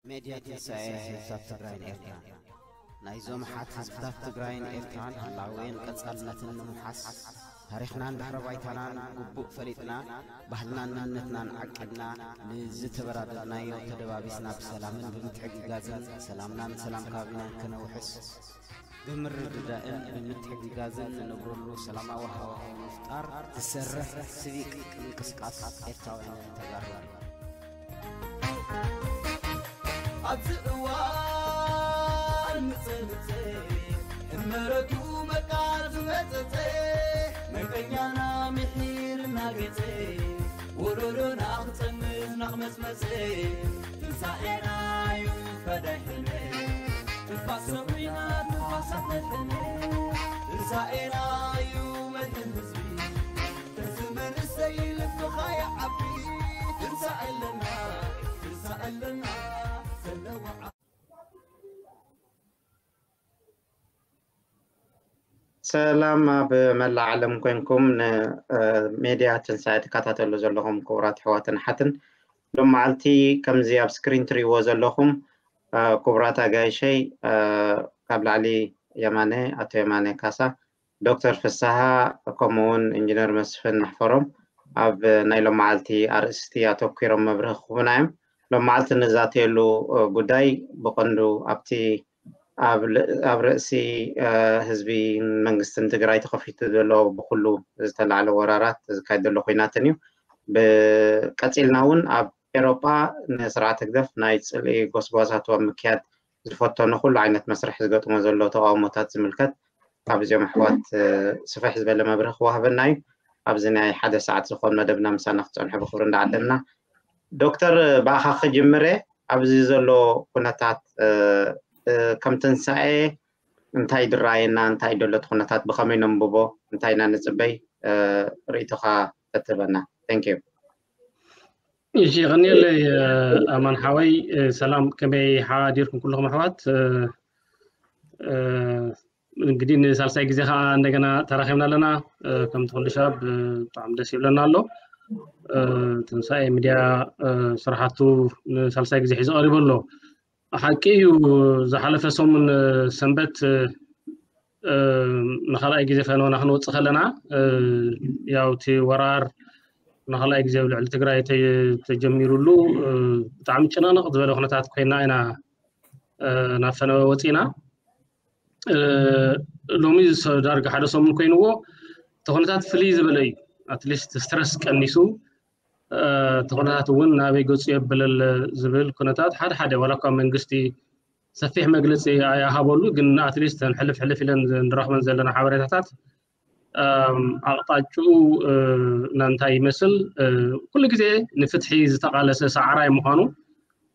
ሜድያ ትንሳኤ ህዝብታት ትግራይን ኤርትራን። ናይዞም ሓት ህዝብታት ትግራይን ኤርትራን ህላዌን ቀጻልነትን ንምውሓስ፣ ታሪኽናን ድሕረ ባይታናን ግቡእ ፈሊጥና፣ ባህልናን መንነትናን ዓቂብና፣ ንዝተበራደድናዮ ተደባቢስና ብሰላምን ብምትሕግጋዝን ሰላምናን ሰላም ከባቢናን ከነውሕስ፣ ብምርድዳእን ብምትሕግጋዝን ንነብረሉ ሰላማዊ ሃዋህው ንምፍጣር ዝሰርሕ ሲቪክ ምንቅስቃስ ኤርትራውያንን ተጋሩን። ኣብዚ እዋን ምጽንጽ ሕመረቱ መቃ ዝመጸጸ፣ መንቀኛና ምሒር እናገጸ፣ ወለሎና ክጸንት ናኽመጽመጸ፣ ትንሳኤና እዩ ፈዳይ ሕነ። ትንፋስ ሰዊና ትንፋሳት መድሕነ። ትንሳኤና እዩ መድሕን ህዝቢ። እዚ መንእሰይ ልብኻ ይዓቢ። ትንሳኤ ኣለና፣ ትንሳኤ ኣለና፣ ዘለዋ ሰላም ኣብ መላእ ዓለም ኮንኩም ንሜድያ ትንሳኤ ትከታተሉ ዘለኹም ክቡራት ኣሕዋትን ኣሓትን፣ ሎም መዓልቲ ከምዚ ኣብ ስክሪን ትርእይዎ ዘለኹም፣ እ፣ ክቡራት ኣጋይሸይ፣ እ፣ ካብ ላዕሊ የማነ፣ ኣቶ የማነ ካሳ፣ ዶክተር ፍስሃ፣ ከምኡ እውን ኢንጂነር መስፍን ኣሕፈሮም ኣብ ናይ ሎም መዓልቲ ኣርእስቲ ኣተኲሮም መብርሂ ክህቡና እዮም። ሎም መዓልቲ ንዛተየሉ፣ እ፣ ጉዳይ ብቐንዱ ኣብቲ ኣብ ል-፣ ኣብ ርእሲ፣ እ፣ ህዝቢ መንግስትን ትግራይ ተኸፊቱ ዘሎ ብኩሉ ዝተላዕለ ወራራት ዝካየድ ዘሎ ኩናትን እዩ። ብቀፂልና እውን ኣብ ኤሮጳ ንስርዓት ህግደፍ ናይ ፅልኢ ጎስጓሳቱ ኣብ ምክያድ ዝፈተኖ ኩሉ ዓይነት መስርሕ ዝገጥሞ ዘሎ ተቃውሞታት ዝምልከት ካብ እዚኦም ኣሕዋት፣ እ፣ ስፍሕ ዝበለ መብርሂ ክወሃበና እዩ። ኣብዚ ናይ ሓደ ሰዓት ዝኾን መደብና ምሳና ክፀንሑ ብክብሪ እንዳዓደምና። ዶክተር፣ ብኣኻ ክጅምር እየ። ኣብዚ ዘሎ ኩነታት፣ እ፣ እ፣ ከም ትንሳኤ እንታይ ድራየና፣ እንታይ ደሎ እቲ ኩነታት፣ ብኸመይ ነንብቦ፣ እንታይ ኢና ንጽበይ፣ እ፣ ርእይቶኻ ተትህበና። Thank you። እሺ፣ ይቐንየለይ፣ እ፣ ኣማን ሓወይ፣ እ፣ ሰላም፣ ከመይ ሓዲርኩም ኩልኹም ኣሕዋት? እ፣ እ፣ እንግዲህ ንሳልሳይ ግዜ ከዓ እንደገና ተራኺብና ኣለና። እ፣ ከምቲ ኩሉ ሻብ፣ እ፣ ብጣዕሚ ደስ ይብለና ኣሎ። እ፣ ትንሳኤ ሚድያ፣ እ፣ ስራሓቱ ንሳልሳይ ግዜ ሒዙ ቀሪቡ ኣሎ። ሓቂ እዩ፣ ዝሓለፈ ሰሙን፣ እ፣ ሰንበት፣ እ፣ እ፣ ንኻልኣይ ግዜ ፈነወና ክንወፅእ ከለና፣ እ፣ ያው እቲ ወራር ንኻልኣይ ግዜ ኣብ ልዕሊ ትግራይ ተ-፣ ተጀሚሩሉ፣ እ፣ ብጣዕሚ ጭንቕንቕ ዝበለ ኩነታት ኮይና ኢና፣ እ፣ ናብ ፈነወ ወፂእና። እ፣ ሎሚ ሰ-፣ ዳርጋ ሓደ ሰሙን ኮይንዎ፣ እቲ ኩነታት ፍልይ ዝበለ እዩ። ኣትሊስት ስትረስ ቀኒሱ፣ እ፣ እቲ ኩነታት እውን ናበይ ገፁ የብለል ዝብል ኩነታት ሓደ ሓደ፣ ዋላ እኳ መንግስቲ ሰፊሕ መግለፂ ኣይሃበሉ፣ ግን ኣትሊስት ተን ሕልፍ ሕልፍ ኢለን ንረኽበን ዘለና ሓበሬታታት፣ እም፣ ኣቕጣጭኡ፣ እ፣ ናንታይ ይመስል? እ፣ ኩሉ ግዜ ንፍትሒ ዝተቓለሰ ሰዓራይ ምዃኑ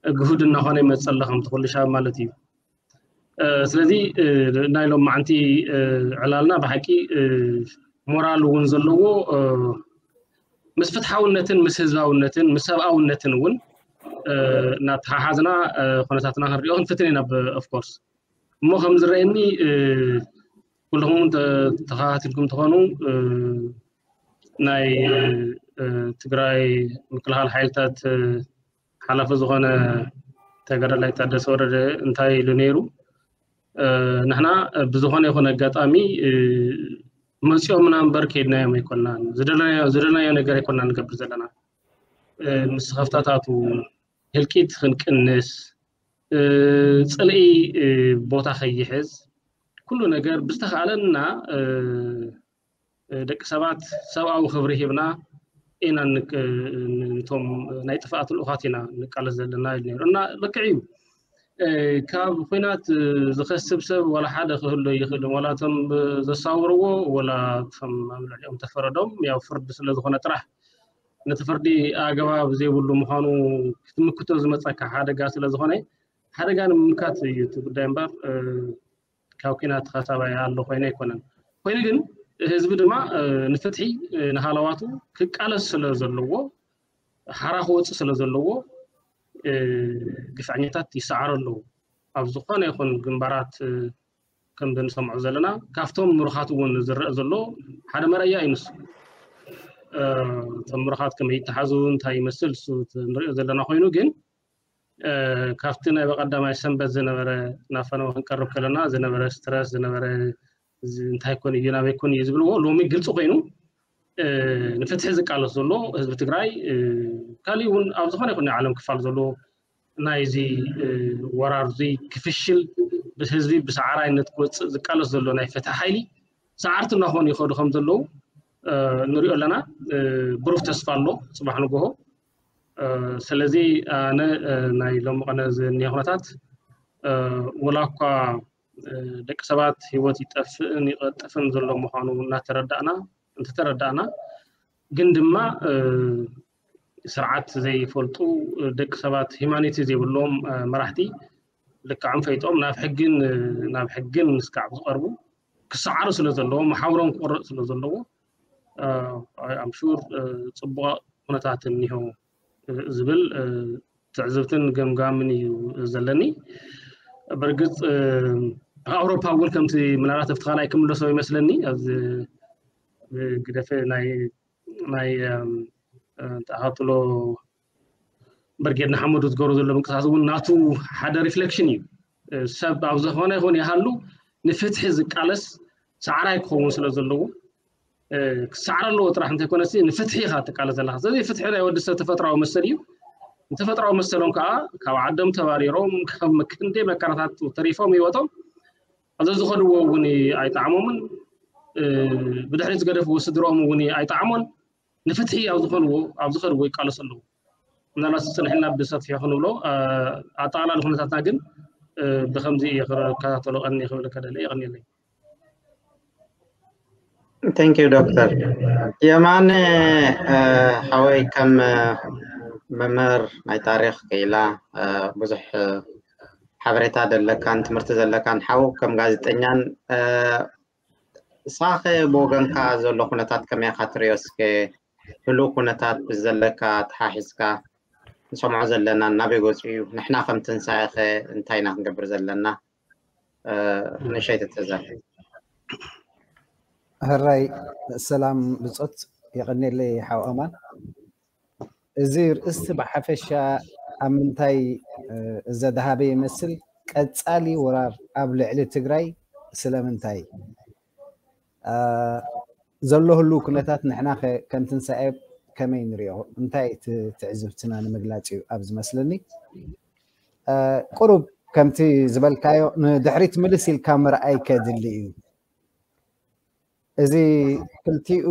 ግሁድ እናኾነ ይመፅእ ኣሎ፣ ከምቲ ኩሉ ሻብ ማለት እዩ። እ፣ ስለዚ፣ እ፣ ናይ ሎም መዓንቲ፣ እ፣ ዕላልና ብሓቂ፣ እ፣ ሞራል እውን ዘለዎ፣ እ፣ ምስ ፍትሓውነትን ምስ ህዝባውነትን ምስ ሰብኣውነትን እውን፣ እ፣ እናተሓሓዝና፣ እ፣ ኩነታትና ክንሪኦ ክንፍትን ኢና፣ ብ-፣ ኦፍኮርስ። እሞ ከም ዝረአየኒ፣ እ፣ ኩልኹም እውን ተ-፣ ተኸታቲልኩም ትኾኑ፣ እ፣ ናይ፣ እ፣ ትግራይ ምክልኻል ሓይልታት፣ እ፣ ሓላፊ ዝኾነ ተጋዳላይ ታደሰ ወረደ እንታይ ኢሉ ነይሩ? እ፣ ንሕና ብዝኾነ ይኹን ኣጋጣሚ፣ እ፣ መፂኦምና እምበር ከይድናዮም ኣይኮናን። ዝደለናዮ፣ ዝደለናዮ ነገር ኣይኮናን ንገብር ዘለና። እ፣ ምስኸፍታታቱ ህልቂት ክንቅንስ፣ እ፣ ፅልኢ፣ እ፣ ቦታ ከይሕዝ፣ ኩሉ ነገር ብዝተኻእለና፣ እ፣ እ፣ ደቂ ሰባት ሰብኣዊ ክብሪ ሂብና ኢና ንክ-፣ ን-፣ ንቶም ናይ ጥፍኣት ልኡኻት ኢና ንቃለስ ዘለና ኢሉ ነይሩ። እና ልክዕ እዩ። እ፣ ካብ ኲናት፣ እ፣ ዝኸስብ ሰብ ዋላ ሓደ ክህሉ ይኽእል፣ ዋላ እቶም፣ እ፣ ዘሳውርዎ፣ ዋላ እቶም ኣብ ልዕሊኦም ተፈረዶም፣ ያው ፍርዲ ስለ ዝኾነ ጥራሕ፣ ነቲ ፍርዲ ኣገባብ ዘይብሉ ምዃኑ ክትምክቶ ዝመጸካ ሓደጋ ስለ ዝኾነ፣ ሓደጋ ንምምካት እዩ እቲ ጉዳይ እምበር፣ እ፣ ካብ ኲናት ተኸሳባይ ኣሎ ኮይኑ ኣይኮነን። ኮይኑ ግን ህዝቢ ድማ፣ እ፣ ንፍትሒ፣ እ፣ ንሃለዋቱ ክቃለስ ስለ ዘለዎ፣ ሓራ ክወጽእ ስለ ዘለዎ፣ እ፣ ግፍዐኛታት ይሰዓሩ ኣለዉ። ኣብ ዝኾነ ይኹን ግንባራት፣ እ፣ ከም እንሰምዖ ዘለና፣ ካብቶም ምሩኻት እውን ዝረአ ዘሎ ሓደ መረኣያ እዩ ንሱ። እ፣ እቶም ምሩኻት ከመይ ይተሓዙ፣ እንታይ ይመስል፣ እሱ እቲ ንሪኦ ዘለና ኮይኑ ግን፣ ካብቲ ናይ በቀዳማይ ሰንበት ዝነበረ ናፈነው ክንቀርብ ከለና ዝነበረ ስትረስ ዝነበረ እንታይ ኮን እዩ ናበይ ኮን እዩ ዝብልዎ ሎሚ ግልፂ ኮይኑ ንፍትሒ ዝቃለስ ዘሎ ህዝቢ ትግራይ ካሊእ እውን ኣብ ዝኾነ ይኹን ናይ ዓለም ክፋል ዘሎ ናይዚ ወራር እዚ ክፍሽል ህዝቢ ብሰዓራይነት ክወፅእ ዝቃለስ ዘሎ ናይ ፍትሒ ሓይሊ ሰዓርቲ እናኾኑ ይኸዱ ከም ዘለዉ ንሪኦ ኣለና። ብሩህ ተስፋ ኣሎ ፅባሕ ንጎሆ። ስለዚ ኣነ ናይ ሎሚ ቀነ ዝኒሀ ኩነታት ወላ እኳ ደቂ ሰባት ህይወት ይጠፍእን ይቐጥፍን ዘሎ ምዃኑ እናተረዳእና እንተተረዳእና ግን ድማ ስርዓት ዘይፈልጡ ደቂ ሰባት ሂማኒቲ ዘይብሎም መራሕቲ ልክዖም ፈይጦም ናብ ሕግን ናብ ሕግን ምስካዕ ዝቐርቡ ክሰዓሩ ስለ ዘለዎ መሓውሮም ክቆረፅ ስለ ዘለዎ ኣምሹር ፅቡቕ ኩነታት እኒሆ ዝብል ትዕዝብትን ገምጋምን እዩ ዘለኒ። ብርግፅ ኣውሮፓ እውን ከምቲ ምናልባት ኣብቲ ካልኣይ ክምለሶ ይመስለኒ ኣብዚ ግደፈ ናይ ናይ ተኣኻትሎ በርጌድ ንሓመዱ ዝገብሮ ዘሎ ምንቅስቃስ እውን ናቱ ሓደ ሪፍሌክሽን እዩ። ሰብ ኣብ ዝኾነ ይኹን ይሃሉ ንፍትሒ ዝቃለስ ሰዓራይ ክኸውን ስለ ዘለዎ ክሰዓር ኣለዎ ጥራሕ እንተይኮነሲ ንፍትሒ ኢኻ ትቃለስ ዘለካ። ስለዚ ፍትሒ ናይ ወዲ ሰብ ተፈጥራዊ መሰል እዩ። ንተፈጥራዊ መሰሎም ከዓ ካብ ዓዶም ተባሪሮም ካብ ክንደይ መከራታት ተሪፎም ህይወቶም ኣብ ዝኸድዎ እውን ኣይጠዓሞምን ብድሕሪት ዝገደፍዎ ስድርኦም እውን ኣይጠዓሞን። ንፍትሒ ኣብ ዝኾንዎ ኣብ ዝኸድዎ ይቃለሱ ኣለዉ። ምናልባት ዝፅንሕና ብሰፊሑ ክንብሎ ኣጠቓላሊ ኩነታትና ግን ብከምዚ እየ ክከታተሎ ቀኒ ክብል ከደለ የቐንየለይ። Thank you ዶክተር የማነ ሓወይ ከም መምህር ናይ ታሪክ ክኢላ ብዙሕ ሓበሬታ ዘለካን ትምህርቲ ዘለካን ሓው ከም ጋዜጠኛን ሳኸ ብወገንካ ዘሎ ኩነታት ከመይ ኢኻ ትሪኦ እስከ ህሉው ኩነታት ብዘለካ ተሓሒዝካ ንሰምዖ ዘለና ናበይ ገፁ እዩ ንሕና ከም ትንሳኤ ኸ እንታይ ኢና ክንገብር ዘለና ንእሽተይ ተተዛር ሕራይ ሰላም ብፆት የቐኔለይ ሓው ኣማን እዚ ርእስቲ ብሓፈሻ ኣብ ምንታይ ዘድሃበ ይመስል ቀፃሊ ወራር ኣብ ልዕሊ ትግራይ ስለምንታይ ዘሎ ህሉ ኩነታት ንሕና ከም ትንሳኤ ከመይ ንሪኦ እንታይ ትዕዝብትና ንምግላፅ እዩ ኣብ ዝመስለኒ ቁሩብ ከምቲ ዝበልካዮ ንድሕሪት ምልስ ኢልካ ምርኣይ ከድሊ እዩ እዚ ክልቲኡ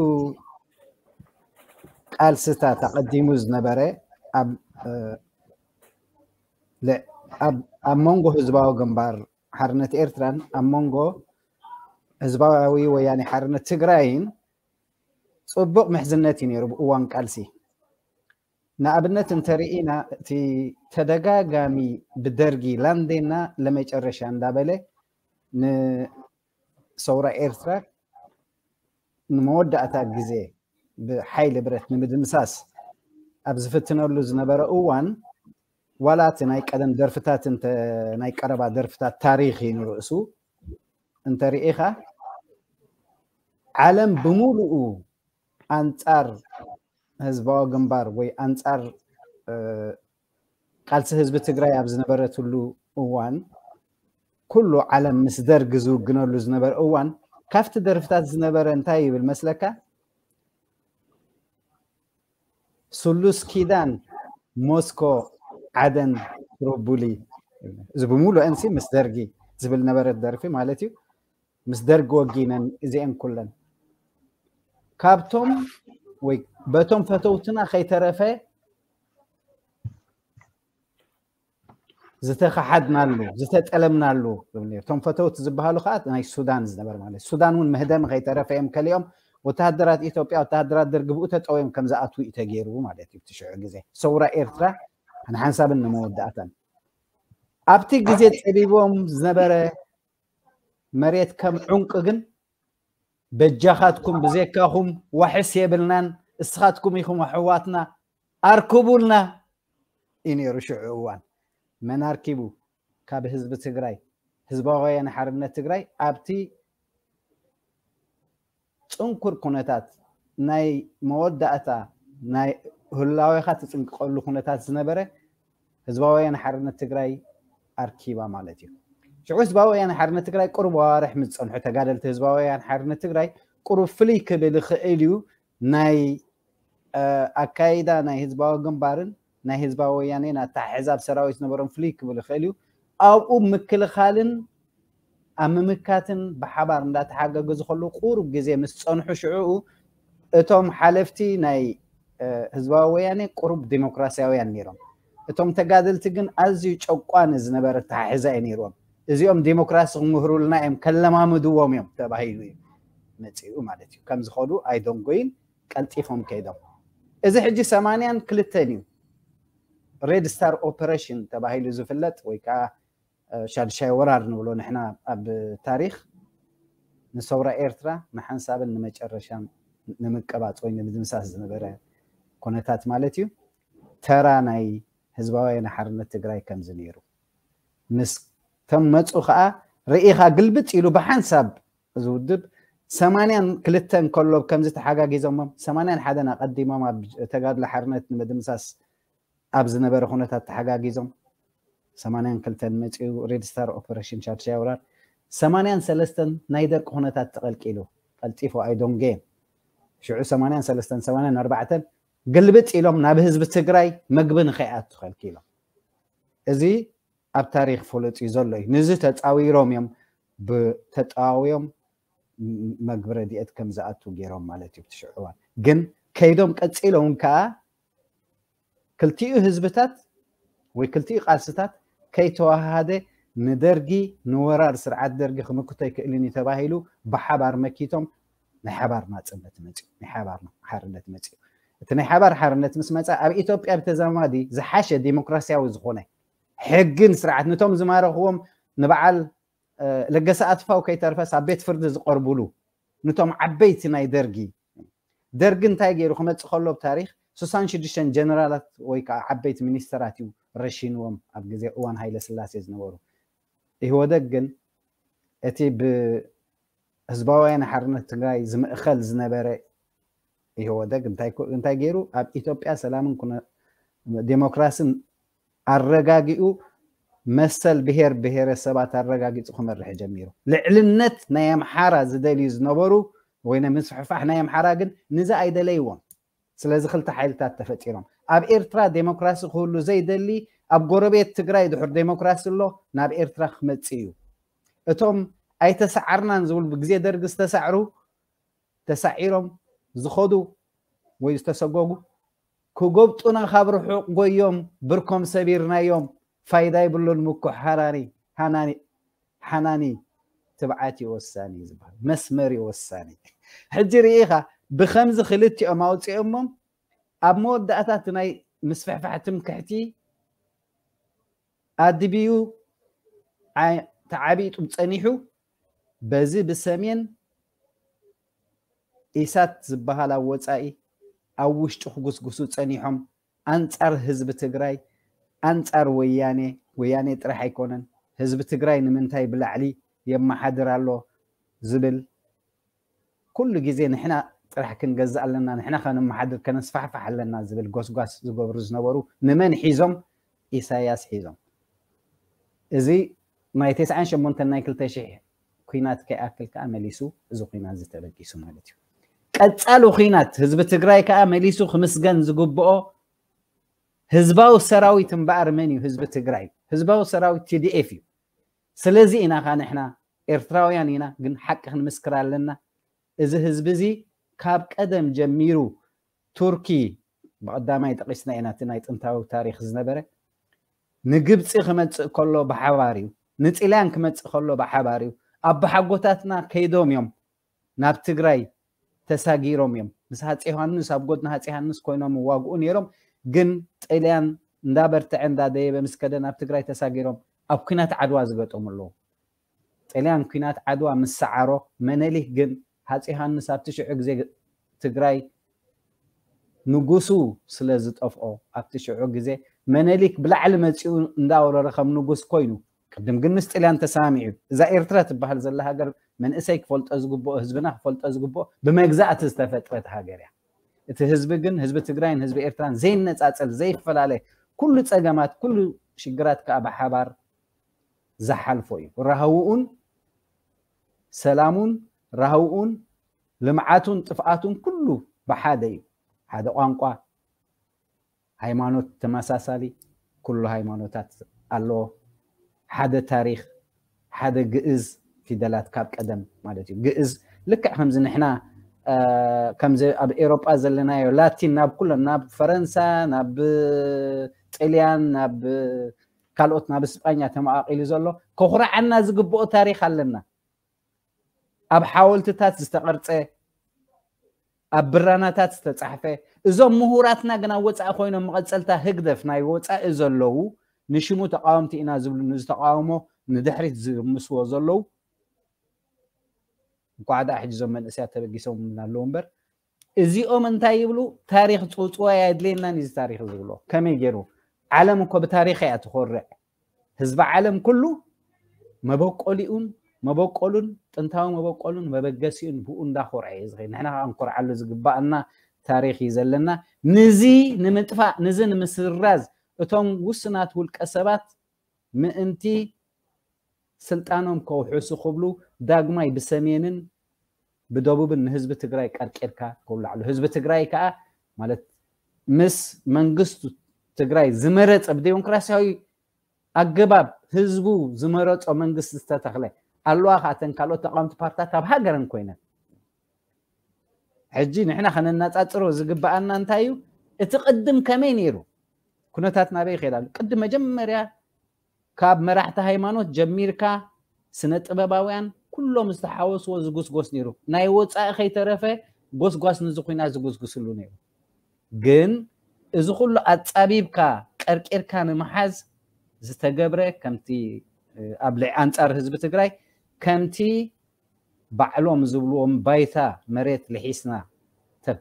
ቃልስታት ኣቐዲሙ ዝነበረ ኣብ መንጎ ህዝባዊ ግንባር ሓርነት ኤርትራን ኣብ መንጎ ህዝባዊ ወያኔ ሓርነት ትግራይን ፅቡቕ ምሕዝነት እዩ ነይሩ ብእዋን ቃልሲ ንኣብነት እንተርኢና እቲ ተደጋጋሚ ብደርጊ ላንዴና ለመጨረሻ እንዳበለ ንሰውራ ኤርትራ ንመወዳእታ ግዜ ብሓይሊ ብረት ንምድምሳስ ኣብ ዝፍትነሉ ዝነበረ እዋን ዋላ እቲ ናይ ቀደም ደርፍታት ናይ ቀረባ ደርፍታት ታሪክ እዩ ንርእሱ እንተርኢኻ ዓለም ብምሉኡ ኣንፃር ህዝባዊ ግንባር ወይ ኣንፃር ቃልሲ ህዝቢ ትግራይ ኣብ ዝነበረትሉ እዋን ኩሉ ዓለም ምስ ደርግ ዝውግነሉ ዝነበረ እዋን ካብቲ ደርፍታት ዝነበረ እንታይ ይብል መስለካ ስሉስ ኪዳን ሞስኮ ዓደን ሮቡሊ እዚ ብምሉአንሲ ምስ ደርጊ ዝብል ነበረት ደርፊ ማለት እዩ ምስ ደርጊ ወጊነን እዚአን ኩለን ካብቶም ወይ በቶም ፈተውትና ከይተረፈ ዝተኸሓድናሉ ዝተጠለምናሉ እቶም ፈተውቲ ዝበሃሉ ከዓ ናይ ሱዳን ዝነበር ማለት ሱዳን እውን መህደሚ ከይተረፈ እዮም ከሊኦም ወተሃደራት ኢትዮጵያ ወተሃደራት ደርጊ ብኡ ተጠውዮም ከም ዝኣትዉ እዩ ተገይሩ ማለት እዩ ትሽዑ ግዜ ሰውራ ኤርትራ ንሓንሳብን ንመወዳእታን ኣብቲ ግዜ ፀቢቦም ዝነበረ መሬት ከም ዑንቂ ግን በጃኻትኩም ብዜካኹም ዋሕስ የብልናን እስኻትኩም ኢኹም ኣሕዋትና ኣርክቡልና እዩ ነይሩ ሽዑ እዋን መን ኣርኪቡ ካብ ህዝቢ ትግራይ ህዝባዊ ወያነ ሓርነት ትግራይ ኣብቲ ፅንኩር ኩነታት ናይ መወዳእታ ናይ ህላዌኻ ትፅንቅቀሉ ኩነታት ዝነበረ ህዝባዊ ወያነ ሓርነት ትግራይ ኣርኪባ ማለት እዩ። ሽዑ ህዝባዊ ወያነ ሓርነት ትግራይ ቁሩብ ኣዋርሕ ምስ ዝፀንሑ ተጋደልቲ ህዝባዊ ወያነ ሓርነት ትግራይ ቁሩብ ፍልይ ክብል ይኽእል እዩ። ናይ ኣካይዳ ናይ ህዝባዊ ግንባርን ናይ ህዝባዊ ወያኔን ኣተሓሕዛ ሰራዊት ዝነበሮም ፍልይ ክብል ይኽእል እዩ። ኣብኡ ምክልኻልን ኣብ ምምካትን ብሓባር እንዳተሓጋገዙ ከለዉ ቁሩብ ግዜ ምስ ፀንሑ ሽዕኡ እቶም ሓለፍቲ ናይ ህዝባዊ ወያኔ ቁሩብ ዲሞክራሲያውያን ነይሮም። እቶም ተጋደልቲ ግን ኣዝዩ ጨቋኒ ዝነበረ ኣተሓሕዛ እዩ ነይርዎም። እዚኦም ዲሞክራሲ ክምህሩልና እዮም ከለማምድዎም እዮም ተባሂሉ እዩ መፂኡ ማለት እዩ። ከም ዝኸዱ ኣይደንጎይን ቀልጢፎም ከይዶም። እዚ ሕጂ ሰማንያን ክልተን እዩ ሬድ ስታር ኦፐሬሽን ተባሂሉ ዝፍለጥ ወይ ከዓ ሻድሻይ ወራር ንብሎ ንሕና ኣብ ታሪኽ ንሰውራ ኤርትራ ንሓንሳብን ንመጨረሻን ንምቅባፅ ወይ ንምድምሳስ ዝነበረ ኩነታት ማለት እዩ። ተራ ናይ ህዝባዊ ሓርነት ትግራይ ከምዚ ነይሩ። ምስ ከም መፁ ከዓ ርኢኻ ግልብጥ ኢሉ ብሓንሳብ እዚ ውድብ ሰማንያን ክልተን ከሎ ከምዚ ተሓጋጊዞሞም ሰማንያን ሓደን ኣቐዲሞም ኣብ ተጋድሎ ሓርነት ንምድምሳስ ኣብ ዝነበረ ኩነታት ተሓጋጊዞም ሰማንያን ክልተን መፂኡ ሬድ ስታር ኦፐሬሽን ሻድሻይ ወራር ሰማንያን ሰለስተን ናይ ደርቂ ኩነታት ተቐልቂሉ ቀልጢፉ ኣይዶንጌን ሽዑ ሰማንያን ሰለስተን ሰማንያን ኣርባዕተን ግልብጥ ኢሎም ናብ ህዝቢ ትግራይ መግቢ ንኸይኣቱ ከልኪሎም። እዚ ኣብ ታሪክ ፍሉጥ እዩ ዘሎ እዩ። ንዚ ተፃዊሮም እዮም ብተፃዋዊዮም መግቢ ረድኤት ከም ዝኣቱ ገይሮም ማለት እዩ። ብትሽዑ እዋን ግን ከይዶም ቀፂሎም ከዓ ክልቲኡ ህዝብታት ወይ ክልቲኡ ቃልስታት ከይተዋሃደ ንደርጊ ንወራር ስርዓት ደርጊ ክምክቶ ኣይክእልን እዩ ተባሂሉ ብሓባር መኪቶም ናይ ሓባር ናፅነት መፅኡ ናይ ሓባር ሓርነት መፅኡ። እቲ ናይ ሓባር ሓርነት ምስ መፃ ኣብ ኢትዮጵያ ብተዛማዲ ዝሓሸ ዲሞክራሲያዊ ዝኾነ ሕግን ስርዓት ንቶም ዝማረኽዎም ንበዓል ለገሰ ኣጥፋው ከይተርፈስ ኣብ ቤት ፍርዲ ዝቐርቡሉ ንቶም ዓበይቲ ናይ ደርጊ ደርጊ እንታይ ገይሩ ክመፅእ ከሎ ኣብ ታሪክ ስሳን ሽዱሽተን ጀነራላት ወይ ከዓ ዓበይቲ ሚኒስተራት እዩ ረሺንዎም ኣብ ግዜ እዋን ሃይለ ስላሴ ዝነበሩ። ኢህወደግ ግን እቲ ብህዝባውያን ሓርነት ትግራይ ዝምእኸል ዝነበረ ኢህወደግ እንታይ ገይሩ ኣብ ኢትዮጵያ ሰላምን ዴሞክራስን ኣረጋጊኡ መሰል ብሄር ብሄረሰባት ኣረጋጊፁ ክመርሕ ጀሚሩ። ልዕልነት ናይ ኣምሓራ ዝደልዩ ዝነበሩ ወይ ናይ ምስፍሕፋሕ ናይ ኣምሓራ ግን ንዚ ኣይደለይዎን። ስለዚ ክልተ ሓይልታት ተፈጢሮም ኣብ ኤርትራ ዴሞክራሲ ክህሉ ዘይደሊ ኣብ ጎረቤት ትግራይ ድሕር ዴሞክራሲ ኣሎ ናብ ኤርትራ ክመፅእ እዩ። እቶም ኣይተሰዓርናን ዝብሉ ብግዜ ደርጊ ዝተሳዕሩ ተሳዒሮም ዝኸዱ ወይ ዝተሰጎጉ ክጎብጡና ካብ ርሑቕ ጎዮም ብርኮም ሰቢርናዮም ፋይዳ ይብሉን ምኩሕ ሃናኒ ሃናኒ ሓናኒ ትብዓት እዩ ወሳኒ ዝበሃል መስመር እዩ ወሳኒ። ሕጂ ርኢኻ ብኸምዚ ክልቲኦም ኣውፂኦሞም ኣብ መወዳእታ እቲ ናይ ምስፍሕፋሕ ትምክሕቲ ኣድብዩ ተዓቢጡ ፀኒሑ በዚ ብሰሜን ኢሳት ዝበሃል ኣብ ወፃኢ ኣብ ውሽጡ ክጉስጉሱ ፀኒሖም ኣንፃር ህዝቢ ትግራይ ኣንፃር ወያኔ ወያኔ ጥራሕ ኣይኮነን ህዝቢ ትግራይ ንምንታይ ብላዕሊ የመሓድር ኣሎ ዝብል ኩሉ ግዜ ንሕና ጥራሕ ክንገዝእ ኣለና ንሕና ከነመሓድር ከነስፋሕፋሕ ኣለና ዝብል ጎስጓስ ዝገብሩ ዝነበሩ ንመን ሒዞም ኢሳያስ ሒዞም እዚ ናይ ተስዓን ሸሞንተን ናይ ክልተ ሽሕ ኩናት ከይኣክል ከዓ መሊሱ እዚ ኩናት ዝተበጊሱ ማለት እዩ። ቀፃሊ ኩናት ህዝቢ ትግራይ ከዓ መሊሱ ክምስገን ዝግብኦ ህዝባዊ ሰራዊት እምበኣር መን እዩ? ህዝቢ ትግራይ ህዝባዊ ሰራዊት ቲዲኤፍ እዩ። ስለዚ ኢና ከዓ ንሕና ኤርትራውያን ኢና ግን ሓቂ ክንምስክር ኣለና። እዚ ህዝቢ እዚ ካብ ቀደም ጀሚሩ ቱርኪ ብቐዳማይ ጠቂስና ኢና እቲ ናይ ጥንታዊ ታሪክ ዝነበረ ንግብፂ ክመፅእ ከሎ ብሓባር እዩ ንጥልያን ክመፅእ ከሎ ብሓባር እዩ ኣባሓጎታትና ከይዶም እዮም ናብ ትግራይ ተሳጊሮም እዮም ምስ ሃፂ ዮሃንስ ኣብ ጎድኒ ሃፂ ዮሃንስ ኮይኖም ዋግኡ ነይሮም ግን ጥልያን እንዳበርትዐ እንዳደየበ ምስ ከደ ናብ ትግራይ ተሳጊሮም ኣብ ኩናት ዓድዋ ዝገጠሙ ኣለዉ ጥልያን ኩናት ዓድዋ ምስ ሰዓሮ መነሊክ ግን ሃፂ ዮሃንስ ኣብቲ ሽዑ ግዜ ትግራይ ንጉሱ ስለ ዝጠፍኦ ኣብቲ ሽዑ ግዜ መነሊክ ብላዕሊ መፂኡ እንዳወረረ ከም ንጉስ ኮይኑ ቅድም ግን ምስ ጥልያን ተሰማሚዑ እዛ ኤርትራ ትበሃል ዘላ ሃገር መንእሰይ ክፈልጦ ዝግብኦ ህዝብና ክፈልጦ ዝግብኦ ብመግዛእቲ ዝተፈጥረት ሃገር እያ። እቲ ህዝቢ ግን ህዝቢ ትግራይን ህዝቢ ኤርትራን ዘይነፃፀል ዘይፈላለ ኩሉ ጸገማት፣ ኩሉ ሽግራት ከዓ ብሓባር ዝሓልፎ እዩ። ራህውኡን ሰላሙን፣ ራህውኡን ልምዓቱን ጥፍኣቱን ኩሉ ብሓደ እዩ። ሓደ ቋንቋ፣ ሃይማኖት ተመሳሳሊ፣ ኩሉ ሃይማኖታት ኣለዎ። ሓደ ታሪኽ፣ ሓደ ግእዝ ፊደላት ካብ ቀደም ማለት እዩ። ግእዝ ልክዕ ከምዚ ንሕና፣ እ፣ ከምዚ ኣብ ኤሮጳ ዘለናዮ ላቲን ናብ ኩለን፣ ናብ ፈረንሳ፣ ናብ ጥልያን፣ ናብ ካልኦት፣ ናብ እስጳኛ ተመቓቒሉ ዘሎ፣ ከኹርዓና ዝግብኦ ታሪኽ ኣለና። ኣብ ሓወልትታት ዝተቐርጸ፣ ኣብ ብራናታት ዝተጻሕፈ፣ እዞም ምሁራትና ግን ኣብ ወጻኢ ኮይኖም መቐጸልታ ህግደፍ ናይ ወጻኢ ዘለዉ፣ ንሽሙ ተቃወምቲ ኢና ዝብሉ፣ ንዝተቃውሞ ንድሕሪት ዝምስዎ ዘለዉ፣ እንኳዕ ደኣ ሕጂ እዞም መንእሰያት ተበጊሶም ኣለዉ እምበር፣ እዚኦም እንታይ ይብሉ? ታሪኽ ጽውጽዋይ ኣየድልየናን እዩ እዚ ታሪኽ ዝብሎ። ከመይ ገይሩ? ዓለም እኮ ብታሪኽ እያ ትኾርዕ። ህዝቢ ዓለም ኩሉ መበቆሊኡን፣ መበቆሉን፣ ጥንታዊ መበቆሉን መበገሲኡን ብኡ እንዳኾርዐ እዩ ዝኸይድ። ንሕና ከዓ እንኮርዓሉ ዝግባኣና ታሪኽ እዩ ዘለና። ንዚ ንምጥፋእ፣ ንዚ ንምስራዝ እቶም ውስናት ውልቀ ሰባት ምእንቲ ስልጣኖም ከውሕሱ ክብሉ ዳግማይ ብሰሜንን ብደቡብን ንህዝቢ ትግራይ ቀርቂርካ ከውላዕሉ። ህዝቢ ትግራይ ከዓ ማለት ምስ መንግስቱ ትግራይ ዝመረጸ ብዴሞክራሲያዊ ኣገባብ ህዝቡ ዝመረጾ መንግስቲ ዝተተኽለ ኣለዋ። ከኣተን ካልኦት ተቃወምቲ ፓርትታት ኣብ ሃገረን ኮይነን ሕጂ ንሕና ከነነጻጽሮ ዝግበኣና እንታይ እዩ? እቲ ቅድም ከመይ ነይሩ? ኩነታት ናበይ ይኸይድ ኣሎ? ቅድም መጀመርያ ካብ መራሕቲ ሃይማኖት ጀሚርካ ስነ ጥበባውያን ኩሎም ዝተሓወስዎ ዝጉስጎስ ነይሩ። ናይ ወጻኢ ከይተረፈ ጎስጓስ ንዚ ኩናት ዝጉስጉስሉ ነይሩ። ግን እዚ ኩሉ ኣጻቢብካ ቀርቂርካ ንምሓዝ ዝተገብረ ከምቲ፣ እ፣ ኣብ ልዕ-፣ ኣንጻር ህዝቢ ትግራይ ከምቲ ባዕሎም ዝብልዎም ባይታ መሬት ልሒስና ተ-፣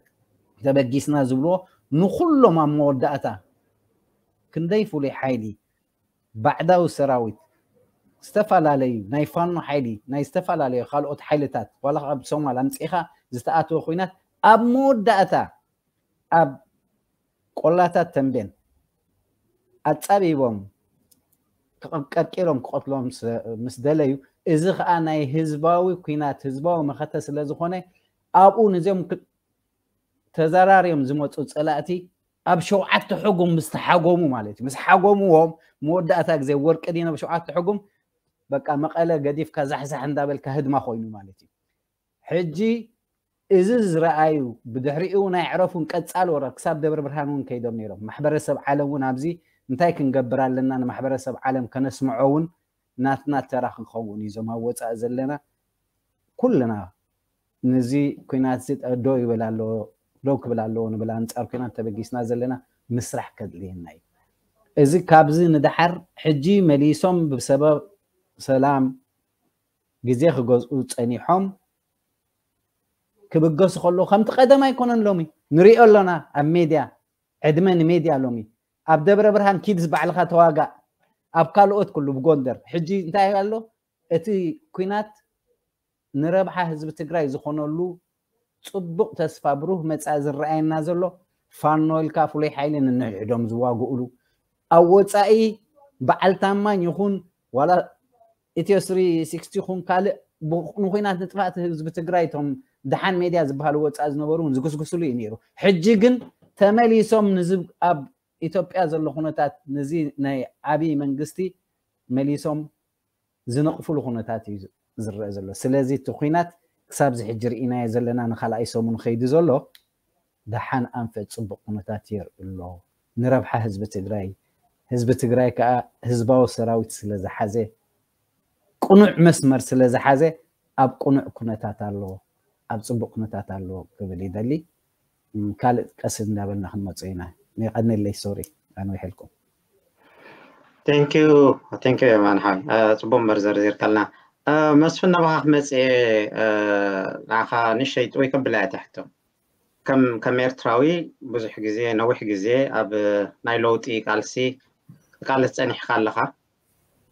ተበጊስና ዝብልዎ ንኩሎም ኣብ መወዳእታ ክንደይ ፍሉይ ሓይሊ ባዕዳዊ ሰራዊት ዝተፈላለዩ ናይ ፋኖ ሓይሊ ናይ ዝተፈላለዩ ካልኦት ሓይልታት ዋላ ካብ ሶማል ኣምጺእኻ ዝተኣተወ ኩናት ኣብ መወዳእታ ኣብ ቆላታት ተንቤን ኣጻቢቦም ቀ-፣ ቀርቂሮም ክቐትሎም ስ-፣ ምስ ደለዩ፣ እዚ ኸኣ ናይ ህዝባዊ ኲናት፣ ህዝባዊ መኸተ ስለ ዝኾነ፣ ኣብኡ ነዚኦም ክ-፣ ተዘራርዮም ዝመጹ ጸላእቲ ኣብ ሸውዓተ ሕጉም ምስ ተሓጎሙ ማለት እዩ። ምስ ሓጎምዎም፣ መወዳእታ ግዜ ወርቂ ዲኖ ኣብ ሸውዓተ ሕጉም፣ በቃ፣ መቐለ ገዲፍካ ዛሕዛሕ እንዳበልካ ህድማ ኮይኑ ማለት እዩ። ሕጂ እዚ ዝረኣዩ፣ ብድሕሪኡ እውን ኣይዕረፉን፣ ቀጻሊ ወረ-፣ ክሳብ ደብረ ብርሃን እውን ከይዶም ነይሮም። ማሕበረሰብ ዓለም እውን ኣብዚ እንታይ ክንገብር ኣለና፣ ንማሕበረሰብ ዓለም ከነስምዖ እውን ናትና ተራ ክንኸውን እዩ። እዞም ኣብ ወጻኢ ዘለና ኩልና ነዚ ኲናት እዚ ጠ-፣ ደው ይበል ኣለዎ፣ ደው ክብል ኣለዎ ንብል፣ ኣንጻር ኲናት ተበጊስና ዘለና ምስራሕ ከድልየና እዩ። እዚ ካብዚ ንደሓር ሕጂ መሊሶም ብሰበብ ሰላም ግዜ ክገዝኡ ጸኒሖም ክብገሱ ከለዉ ከምቲ ቀደም ኣይኮነን። ሎሚ ንሪኦ ኣሎና ኣብ ሜድያ፣ ዕድመ ንሜድያ ሎሚ። ኣብ ደብረ ብርሃን ኪድስ ባዕልኻ ተዋጋእ፣ ኣብ ካልኦት ኩሉ ብጎንደር። ሕጂ እንታይ ኣሎ? እቲ ኲናት ንረብሓ ህዝቢ ትግራይ ዝኾነሉ ጽቡቕ ተስፋ፣ ብሩህ መጻኢ ዝረኣየና ዘሎ ፋኖ ኢልካ ፍሉይ ሓይሊ ንንሕድሕዶም ዝዋግኡሉ፣ ኣብ ወጻኢ በዓል ታማኝ ይኹን ዋላ ኢትዮ ስሪ ሲክስቲ ይኹን ካልእ ብ-፣ ንኹናት ንጥፋእቲ ህዝቢ ትግራይ እቶም ደሓን ሜድያ ዝበሃሉ ወጻኢ ዝነበሩ እውን ዝጉስጉስሉ እዩ ነይሩ። ሕጂ ግን ተመሊሶም ንዚ ኣብ ኢትዮጵያ ዘሎ ኩነታት፣ ነዚ ናይ ዓብዪ መንግስቲ መሊሶም ዝነቕፍሉ ኩነታት እዩ ዝረአ ዘሎ። ስለዚ እቲ ኲናት ክሳብ እዚ ሕጂ ርኢናዮ ዘለና ንኻልኣይ ሰሙን ከይዱ ዘሎ ደሓን ኣንፈት ጽቡቕ ኩነታት የርኢ ኣሎ። ንረብሓ ህዝቢ ትግራይ፣ ህዝቢ ትግራይ ከኣ ህዝባዊ ሰራዊት ስለ ዝሓዘ፣ ቅኑዕ መስመር ስለ ዝሓዘ ኣብ ቅኑዕ ኩነታት ኣሎ፣ ኣብ ጽቡቕ ኩነታት ኣሎ ክብል ይደሊ። እም፣ ካልእ ቀስ እንዳበልና ክንመጾ ኢና። የቐንየለይ፣ ሶሪ ኣንዊሐልኩም። ቴንኪዩ፣ ቴንኪዩ የማን ሓወይ። እ፣ ጽቡቕ እምበር ዘርዚርካልና። እ፣ መስፍን፣ ናባኻ ክመጽእ እየ። እ፣ ንዓኻ ንእሽተይ ጥውይ ከብላ እየ እታ ሕቶ። ከም፣ ከም ኤርትራዊ ብዙሕ ግዜ፣ ነዊሕ ግዜ ኣብ ናይ ለውጢ ቃልሲ ትቃለስ ጸኒሕካ ኣለኻ።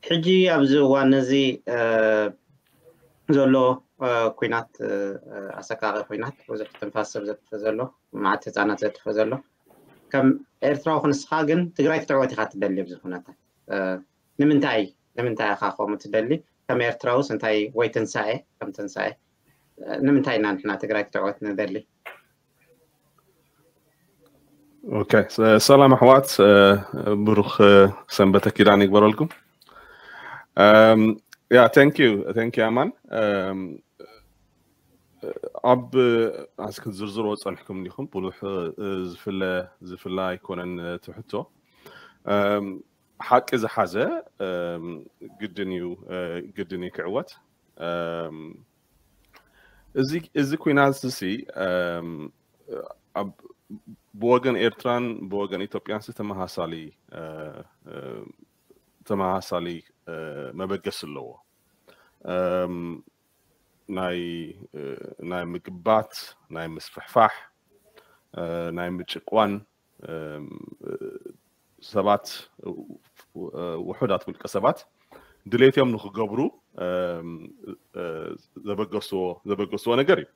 ሕጂ ኣብዚ እዋን እዚ፣ እ፣ ዘሎ፣ እ፣ ኲናት፣ እ፣ ኣሰቃቂ ኲናት፣ ብዙሕ ትንፋስ ሰብ ዘጥፍእ ዘሎ፣ መዓት ህጻናት ዘጥፍእ ዘሎ፣ ከም ኤርትራዊ ክንስኻ ግን ትግራይ ክትዕወት ኢኻ ትደሊ ኣብዚ ኩነታት። ንምንታይ ንምንታይ ኢኻ ከምኡ ትደሊ? ከም ኤርትራውስ እንታይ ወይ ትንሳኤ ከም ትንሳኤ ንምንታይ ኢና ንሕና ትግራይ ክትዕወት ንደሊ? ኦኬ፣ ሰላም ኣሕዋት፣ ብሩኽ ሰንበተ ኪዳን ይግበረልኩም። ያ thank you thank you ኣማን። ኣብ ኣስክ ዝርዝሮ ጸንሕኩም እንዲኹም ብዙሕ ዝፍለ ዝፍለ ኣይኮነን ትሕቶ። ሓቂ ዝሓዘ ግድን እዩ ግድን እዩ ክዕወት። እዚ ኩናት እዚ ብወገን ኤርትራን ብወገን ኢትዮጵያን ተመሳሳሊ ተመሳሳሊ መበገሲ ኣለዎ። ናይ ናይ ምግባት፣ ናይ ምስፍሕፋሕ፣ ናይ ምጭቋን፣ ሰባት ውሑዳት ውልቀ ሰባት ድሌቶም ንክገብሩ ዘበገስዎ ዘበገስዎ ነገር እዩ።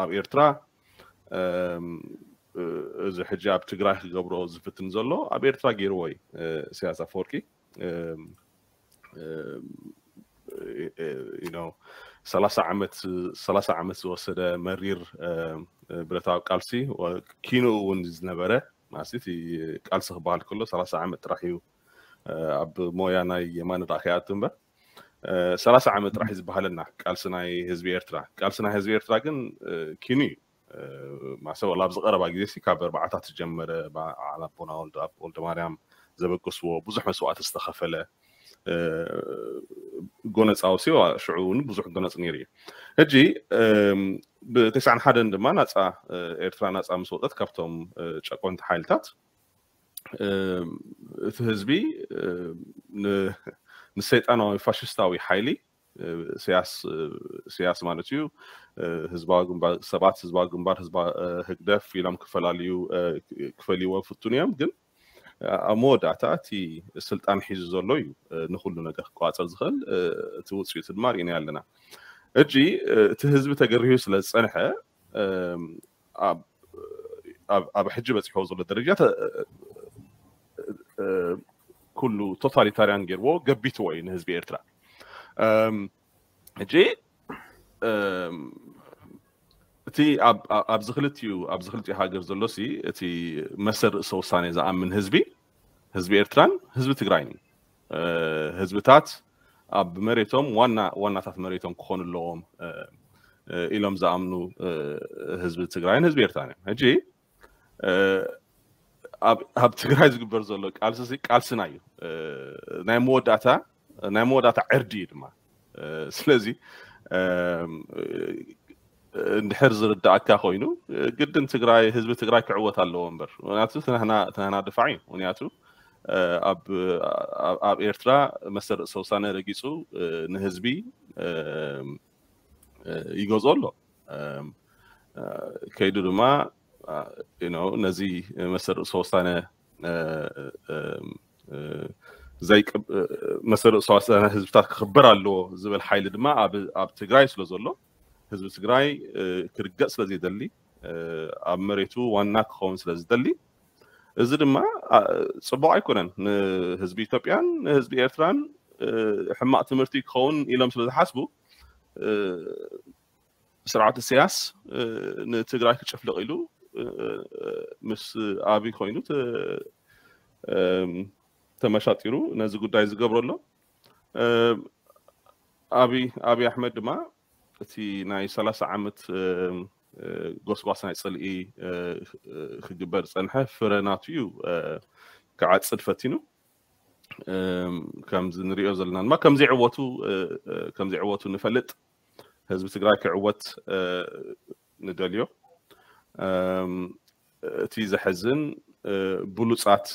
ኣብ ኤርትራ እዚ ሕጂ ኣብ ትግራይ ክገብሮ ዝፍትን ዘሎ ኣብ ኤርትራ ገይርዎ እዩ ኢሳያስ ኣፈወርቂ። ሰላሳ ዓመት ሰላሳ ዓመት ዝወሰደ መሪር ብረታዊ ቃልሲ ኪኑ እውን ዝነበረ ማለት ቃልሲ ክበሃል ከሎ ሰላሳ ዓመት ጥራሕ እዩ። ኣብ ሞያ ናይ የማነ ዳኣ ከይኣቱ እምበር ሰላሳ ዓመት ጥራሕ እዩ ዝበሃለና ቃልሲ ናይ ህዝቢ ኤርትራ። ቃልሲ ናይ ህዝቢ ኤርትራ ግን ኪኑ እዩ። ማሰብ ኣብ ዝቀረባ ግዜ ካብ ኣርባዓታት ዝጀመረ በዓል ኣቦና ወልደማርያም ዘበገስዎ ብዙሕ መስዋእቲ ዝተኸፈለ ጎነፃዊ ሲዋ ሽዑ እውን ብዙሕ ጎነፅ ነይሩ እዩ። ሕጂ ብተስዓን ሓደን ድማ ናፃ ኤርትራ ናፃ ምስ ወፀት ካብቶም ጨቆንቲ ሓይልታት እቲ ህዝቢ ንሰይጣናዊ ፋሽስታዊ ሓይሊ ኢሳያስ ማለት እዩ። ህዝባዊ ግንባር ሰባት ህዝባዊ ግንባር ህግደፍ ኢሎም ክፈላልዩ ክፈልይዎ ፍቱን እዮም። ግን ኣብ መወዳእታ እቲ ስልጣን ሒዙ ዘሎ እዩ ንኩሉ ነገር ክቋፀር ዝኽእል። እቲ ውፅኢቱ ድማ ርኢና ኣለና። እጂ እቲ ህዝቢ ተገሪሁ ስለ ዝፀንሐ ኣብ ሕጂ በፂሕዎ ዘሎ ደረጃ ኩሉ ቶታሊታርያን ገይርዎ ገቢትዎ እዩ ንህዝቢ ኤርትራ። ሕጂ እቲ ኣብዚ ክልቲኡ ኣብዚ ክልቲኡ ሃገር ዘሎ ሲ እቲ መሰል ርእሰ ውሳኔ ዝኣምን ህዝቢ ህዝቢ ኤርትራን ህዝቢ ትግራይን እዩ። ህዝብታት ኣብ መሬቶም ዋና ዋናታት መሬቶም ክኾኑ ኣለዎም ኢሎም ዝኣምኑ ህዝቢ ትግራይን ህዝቢ ኤርትራን እዮም። ሕጂ ኣብ ትግራይ ዝግበር ዘሎ ቃልሲ ቃልስና እዩ። ናይ መወዳእታ ናይ መወዳእታ ዕርዲ እዩ ድማ። ስለዚ እንድሕር ዝርዳእካ ኮይኑ ግድን ትግራይ ህዝቢ ትግራይ ክዕወት ኣለዎ እምበር ምክንያቱ ትናህና ድፋዕ እዩ። ምክንያቱ ኣብ ኤርትራ መሰል ርእሰ ውሳነ ረጊፁ ንህዝቢ ይገዝኦ ኣሎ። ከይዱ ድማ ነዚ መሰል ርእሰ ውሳነ መሰል ርእሰ ውሳነ ህዝብታት ክኽበር ኣለዎ ዝብል ሓይሊ ድማ ኣብ ትግራይ ስለ ዘሎ ህዝቢ ትግራይ ክርገፅ ስለ ዘይደሊ ኣብ መሬቱ ዋና ክኸውን ስለ ዝደሊ እዚ ድማ ፅቡቅ ኣይኮነን። ንህዝቢ ኢትዮጵያን ንህዝቢ ኤርትራን ሕማቅ ትምህርቲ ክኸውን ኢሎም ስለ ዝሓስቡ ስርዓት ኢሳያስ ንትግራይ ክጭፍልቕ ኢሉ ምስ ኣብይ ኮይኑ ተመሻጢሩ ነዚ ጉዳይ ዝገብሮ ኣሎ። ኣብይ ኣብይ ኣሕመድ ድማ እቲ ናይ ሰላሳ ዓመት ጎስጓስ ናይ ፅልኢ ክግበር ዝፀንሐ ፍረ ናቱ እዩ ክዓፅድ ፈቲኑ። ከምዚ ንሪኦ ዘለና ድማ ከምዘይዕወቱ ከምዘይዕወቱ ንፈልጥ። ህዝቢ ትግራይ ክዕወት ንደልዮ። እቲ ዘሕዝን ብሉፃት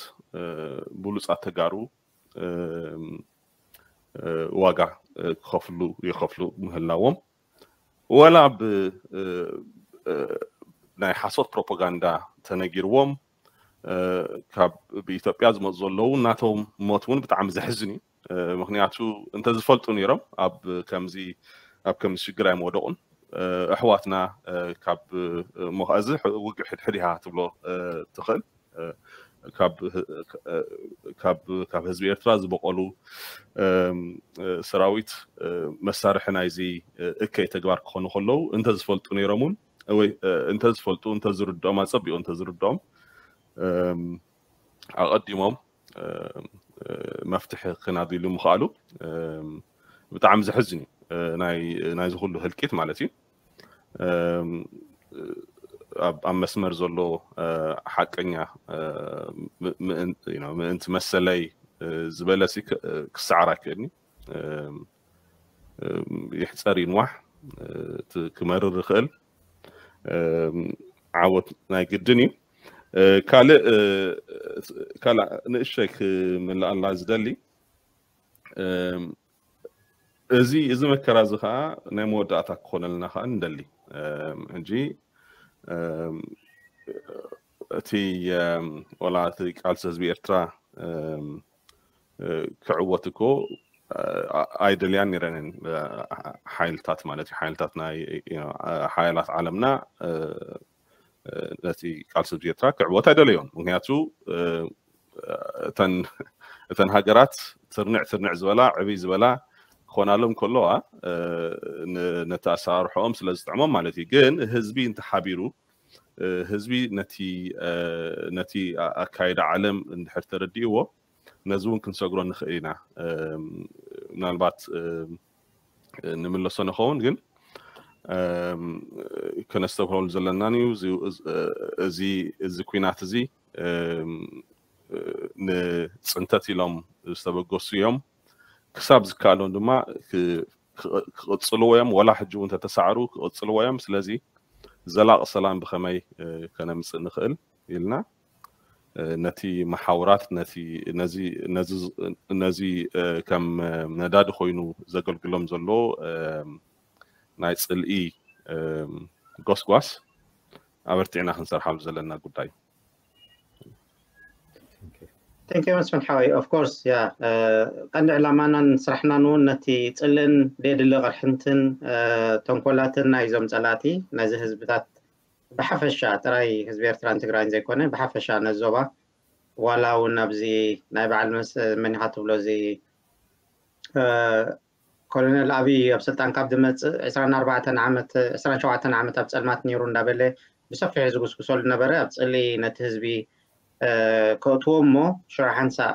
ብሉፃት ተጋሩ ዋጋ ክኸፍሉ ይኸፍሉ ምህላዎም ወላ ብ ናይ ሓሶት ፕሮፓጋንዳ ተነጊርዎም ካብ ብኢትዮጵያ ዝመፁ ዘለዉ ናቶም ሞት እውን ብጣዕሚ ዘሕዝን እዩ። ምክንያቱ እንተዝፈልጡ ነይሮም ኣብ ከምዚ ኣብ ከምዚ ሽግር ኣይመወደቁን። ኣሕዋትና ካብ ሞኻእዚ ውግእ ሕድሕድ ኢኻ ትብሎ ትኽእል ካብ ካብ ህዝቢ ኤርትራ ዝበቐሉ ሰራዊት መሳርሒ ናይዚ እከይ ተግባር ክኾኑ ከለዉ እንተዝፈልጡ ነይሮም እውን ወይ እንተዝፈልጡ እንተዝርድኦም ኣጸቢቑ እንተዝርድኦም ኣቐዲሞም መፍትሒ ክናድሉ ምኽኣሉ ብጣዕሚ ዘሕዝን እዩ። ናይዚ ኩሉ ህልቂት ማለት እዩ። ኣብ መስመር ዘሎ ሓቀኛ ምእንቲ መሰለይ ዝበለ ክሰዓር ኣይክእልኒ። ይሕፀር ይንዋሕ ክመርር ይኽእል ዓወት ናይ ግድን እዩ። ካልእ ካልእ ንእሸይ ክምልኣላ ዝደሊ እዚ እዚ መከራ እዚ ከዓ ናይ መወዳእታ ክኾነልና ከዓ ንደሊ። ሕጂ እቲ ወላ እቲ ቃልሲ ህዝቢ ኤርትራ ክዕወት እኮ ኣይደልያን ነይረንን ሓይልታት ማለት እዩ። ሓይልታት ናይ ሓያላት ዓለምና ነቲ ቃልሲ ህዝቢ ኤርትራ ክዕወት ኣይደለዮን። ምክንያቱ እተን ሃገራት ትርንዕ ትርንዕ ዝበላ ዕብይ ዝበላ ክኾናሎም ከለዋ ነቲ ኣሰራርሖኦም ስለ ዝጥዕሞም ማለት እዩ። ግን ህዝቢ እንተሓቢሩ ህዝቢ ነቲ ኣካይዳ ዓለም እንድሕር ተረዲእዎ ነዚ እውን ክንሰግሮ ንኽእል ኢና። ምናልባት ንምለሶ ንኸውን ግን ከነስተብህለሉ ዘለናን እዩ። እዚ ኩናት እዚ ንፅንተት ኢሎም ዝተበገሱ እዮም። ክሳብ ዝከኣሎም ድማ ክቕፅልዎ እዮም። ወላ ሕጂ እውን ተተሳዕሩ ክቕፅልዎ እዮም። ስለዚ ዘላቕ ሰላም ብኸመይ ከነምፅእ ንኽእል ኢልና ነቲ መሓውራት ነዚ ከም ነዳዲ ኮይኑ ዘገልግሎም ዘሎ ናይ ፅልኢ ጎስጓስ ኣበርቲዕና ክንሰርሓሉ ዘለና ጉዳይ። Thank you መስፍን ሓወይ። Of course ያ ቀንዲ ዕላማናን ስራሕናን እውን ነቲ ፅልእን ደየድሊ ቅርሕንትን ተንኮላትን ናይዞም ፀላእቲ ነዚ ህዝብታት ብሓፈሻ ጥራይ ህዝቢ ኤርትራን ትግራይን ዘይኮነ ብሓፈሻ ነዚ ዞባ ዋላ እውን ኣብዚ ናይ በዓል መስ መኒኻ ትብሎ እዚ ኮሎኔል ኣብይ ኣብ ስልጣን ካብ ዝመፅእ ዕስራን ኣርባዕተን ዓመት ዕስራን ሸውዓተን ዓመት ኣብ ፀልማት ነይሩ እንዳበለ ብሰፊሑ ዝጉስጉሰሉ ነበረ። ኣብ ፅሊ ነቲ ህዝቢ ከእትዎ እሞ ሽዑ ሓንሳእ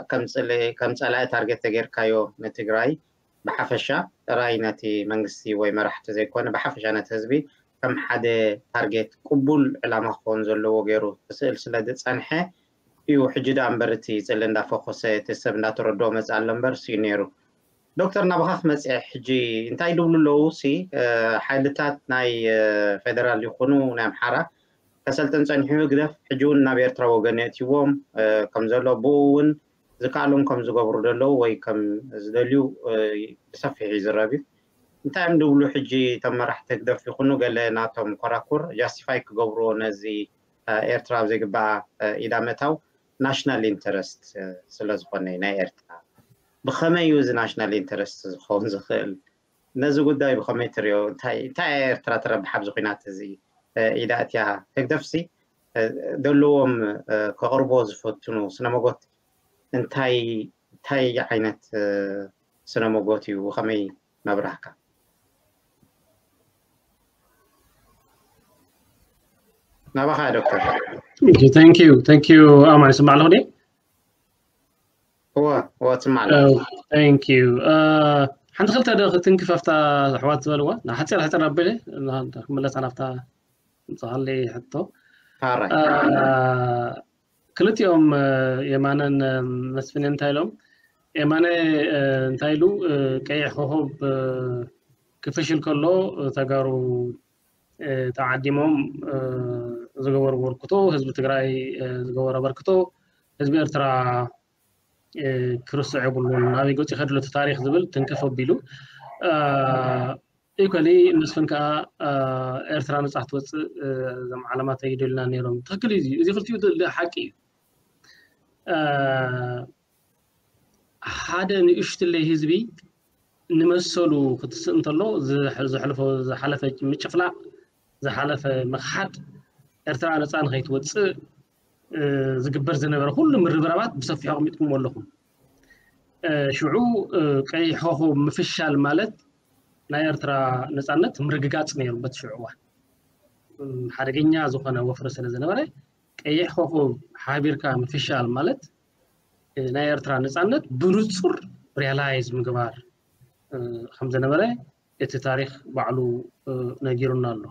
ከም ፀላኢ ታርጌት ተጌርካዮ ንትግራይ ብሓፈሻ ጥራይ ነቲ መንግስቲ ወይ መራሕቲ ዘይኮነ ብሓፈሻ ነቲ ህዝቢ ከም ሓደ ታርጌት ቅቡል ዕላማ ክኸውን ዘለዎ ገይሩ ክስእል ስለ ዝፀንሐ እዩ። ሕጂ ደኣ እምበር እቲ ፅሊ እንዳፈኮሰ እቲ ሰብ እንዳተረድኦ መፅእ ኣሎ እምበር ስዩ ነይሩ። ዶክተር ናባኻ ክመፅእ ሕጂ እንታይ ዝብሉ ኣለዉ ሲ ሓይልታት ናይ ፌደራል ይኹኑ ናይ ኣምሓራ ከሰልጥን ፀኒሑ ህግደፍ ሕጂ እውን ናብ ኤርትራ ወገን የእትዎም ከም ዘሎ ብኡ እውን ዝከኣሎም ከም ዝገብሩ ዘለዉ ወይ ከም ዝደልዩ ብሰፊሕ ይዝረብ እዩ። እንታይ እዮም ዝብሉ ሕጂ እቶም መራሕቲ ህግደፍ ይኹኑ ገለ ናቶም ኮራኩር ጃስቲፋይ ክገብርዎ ነዚ ኤርትራ ኣብ ዘይግባኣ ኢዳ ምእታው ናሽናል ኢንተረስት ስለዝኾነ ናይ ኤርትራ ብኸመይ እዩ እዚ ናሽናል ኢንተረስት ዝኸውን ዝኽእል? ነዚ ጉዳይ ብኸመይ ትሪኦ? እንታይ እንታይ እያ ኤርትራ ትረብሕ ኣብዚ ኲናት እዚ ኢዳ እትያ? ህግደፍሲ ዘለዎም ከቕርቦ ዝፈትኑ ስነመጎት እንታይ እንታይ ዓይነት ስነመጎት እዩ? ብኸመይ መብራህካ? ናባኻ ዶክተር። Thank you thank you ኣማ ይስማዕ ኣለኹ ድየ? እወ እወ ትስማዕ ኣለኻ። Thank you ሓንቲ ክልተ ዶ ክትንክፍ ኣብታ ኣሕዋት ዝበልዋ ንሓፂር ሓፂር ኣቢለ ክምለሳ ናብታ ምፅኻለይ ሕቶ። ሓራይ ክልቲኦም የማነን መስፍን እንታይ ኢሎም? የማነ እንታይ ኢሉ? ቀይሕ ኮኾብ ክፍሽል ከሎ ተጋሩ ተዓዲሞም ዝገበሩ ኣበርክቶ፣ ህዝቢ ትግራይ ዝገበሩ ኣበርክቶ ህዝቢ ኤርትራ ክርስዕ የብሉን፣ ናበይ ገፁ ይኸድ ኣሎ እቲ ታሪኽ ዝብል ትንክፍ ኣቢሉ። ኢኳሊ መስፍን ከዓ ኤርትራ ነፃ ክትወፅእ እዞም ዓለማት ኣይደሉና ነይሮም። ትኽክል እዩ። እዚ ክልቲኡ ሓቂ እዩ። ሓደ ንእሽትለይ ህዝቢ ንመሰሉ ክትስእ እንተሎ ዘሕልፎ ዝሓለፈ ምጭፍላቕ ዝሓለፈ ምኽሓድ ኤርትራ ነፃ ንኸይትወፅእ ዝግበር ዝነበረ ኩሉ ምርብራባት ብሰፊሑ ኣቕሚጥኩምዎ ኣለኹም። ሽዑ ቀይሕ ኮኾብ ምፍሻል ማለት ናይ ኤርትራ ነፃነት ምርግጋፅ ነይሩ። በቲ ሽዑ እዋን ሓደገኛ ዝኾነ ወፍሪ ስለ ዝነበረ ቀይሕ ኮኾብ ሓቢርካ ምፍሻል ማለት ናይ ኤርትራ ነፃነት ብንፁር ሪያላይዝ ምግባር ከም ዝነበረ እቲ ታሪክ ባዕሉ ነጊሩና ኣሎ።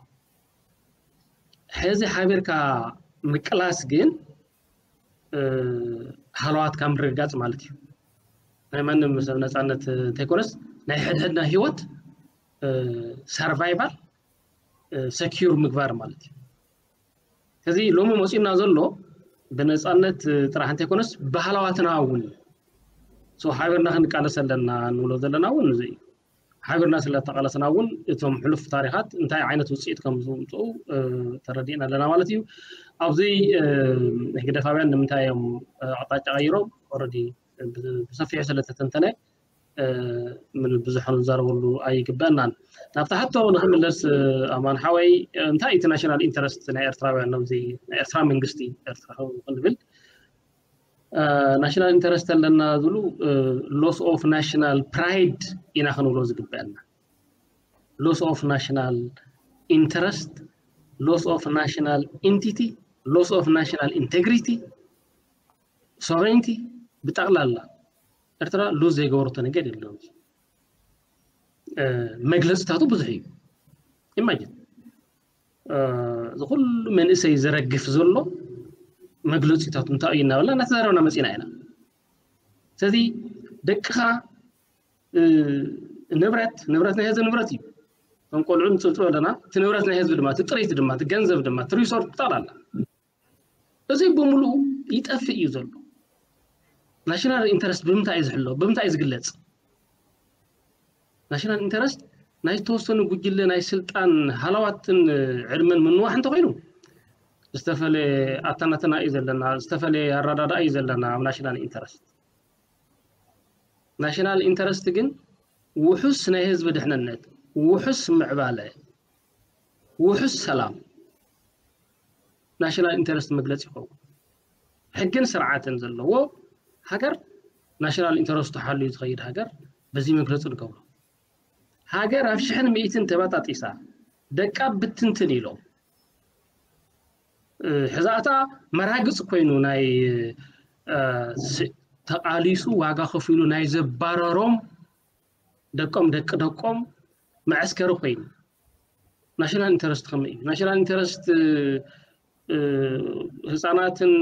ሕዚ ሓቢርካ ምቅላስ ግን ሃለዋትካ ምርግጋፅ ማለት እዩ። ናይ ማንም ሰብ ነፃነት እንተይኮነስ ናይ ሕድሕድና ሂወት ሰርቫይቫል ሰኪር ምግባር ማለት እዩ። እዚ ሎሚ መፂኡና ዘሎ ብነፃነት ጥራሕ እንተይኮነስ ብሃለዋትና እውን እዩ። ሓቢርና ክንቃለስ ኣለና እንብሎ ዘለና እውን እዚ እዩ። ሓቢርና ስለ ተቃለስና እውን እቶም ሕሉፍ ታሪኻት እንታይ ዓይነት ውፅኢት ከም ዝምፅኡ ተረዲእና ኣለና ማለት እዩ። ኣብዚ ህግደፋውያን ንምንታይ እዮም ኣቕጣጫ ቀይሮም ኦረዲ ብሰፊሑ ስለተተንተነ ብዙሕ ክንዛረበሉ ኣይግበአናን። ናብታ ሕቶ ንክምለስ ኣማን ሓወይ እንታይ እቲ ናሽናል ኢንተረስት ናይ ኤርትራውያን ነዚ ናይ ኤርትራ መንግስቲ ኤርትራ ክንብል ናሽናል ኢንተረስት ኣለና ዝብሉ loss of national pride ኢና ክንብሎ ዝግበአና። Loss of national interest, loss of national entity, loss of national integrity, sovereignty ብጠቕላላ ኤርትራ ሉዝ ዘይገበረቶ ነገር የለን። መግለፅታቱ ብዙሕ እዩ። ኢማጅን እዚ ኩሉ መንእሰይ ዝረግፍ ዘሎ መግለፂታቱ እንታይ እዩ እናበልና እናተዛረብና መፂና ኢና። ስለዚ ደቅኻ ንብረት ንብረት ናይ ህዝቢ ንብረት እዩ። ከም ቆልዑ ንፅብፅብ ኣለና። እቲ ንብረት ናይ ህዝቢ ድማ እቲ ጥሪት ድማ እቲ ገንዘብ ድማ እቲ ሪሶርት ብጠቕላላ እዚ ብምሉኡ ይጠፍእ እዩ ዘሎ። ናሽናል ኢንተረስት ብምንታይ እዩ ዝሕሎ? ብምንታይ እዩ ዝግለፅ? ናሽናል ኢንተረስት ናይ ዝተወሰኑ ጉጅለ ናይ ስልጣን ሃለዋትን ዕድመን ምንዋሕ እንተኮይኑ ዝተፈለየ ኣተናተና እዩ ዘለና፣ ዝተፈለየ ኣረዳድኣ እዩ ዘለና ኣብ ናሽናል ኢንተረስት። ናሽናል ኢንተረስት ግን ውሑስ ናይ ህዝቢ ድሕንነት፣ ውሑስ ምዕባለ፣ ውሑስ ሰላም ናሽናል ኢንተረስት መግለፂ ይኸውን። ሕግን ስርዓትን ዘለዎ ሃገር ናሽናል ኢንተረስቱ ሓልዩ ዝኸይድ ሃገር በዚ መግለፂ ንገብሮ። ሃገር ኣብ ሽሕን ሚእትን ተበጣጢሳ ደቃ ብትንትን ኢሎም ሕዛእታ መራግፅ ኮይኑ ናይ ተቃሊሱ ዋጋ ከፊሉ ናይ ዘባረሮም ደቆም ደቂ ደቆም መዐስከሪ ኮይኑ ናሽናል ኢንተረስት ከመይ እዩ? ናሽናል ኢንተረስት ህፃናትን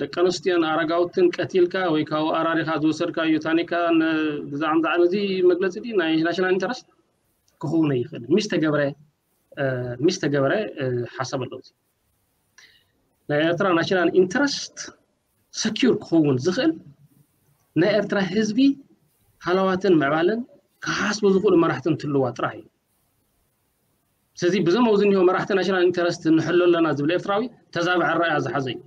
ደቂ ኣንስትዮን ኣረጋውትን ቀቲልካ ወይ ካብ ኣራሪኻ ዝወሰድካዮ ታኒካ ብዛዕባ እዚ መግለፂ ናይ ናሽናል ኢንተረስት ክኸውን ኣይኽእልን። ሚስ ተገብረ ሚስ ተገብረ ሓሳብ ኣለዎ። ናይ ኤርትራ ናሽናል ኢንተረስት ሰኪር ክኸውን ዝኽእል ናይ ኤርትራ ህዝቢ ሃለዋትን ምዕባለን ክሓስቡ ዝኽእሉ መራሕቲ እንትልዋ ጥራሕ እዩ። ስለዚ ብዞም ኣብዚ እኒሆ መራሕቲ ናሽናል ኢንተረስት ንሕሎ ኣለና ዝብል ኤርትራዊ ተዛብዐ ራእያ ዝሓዘ እዩ።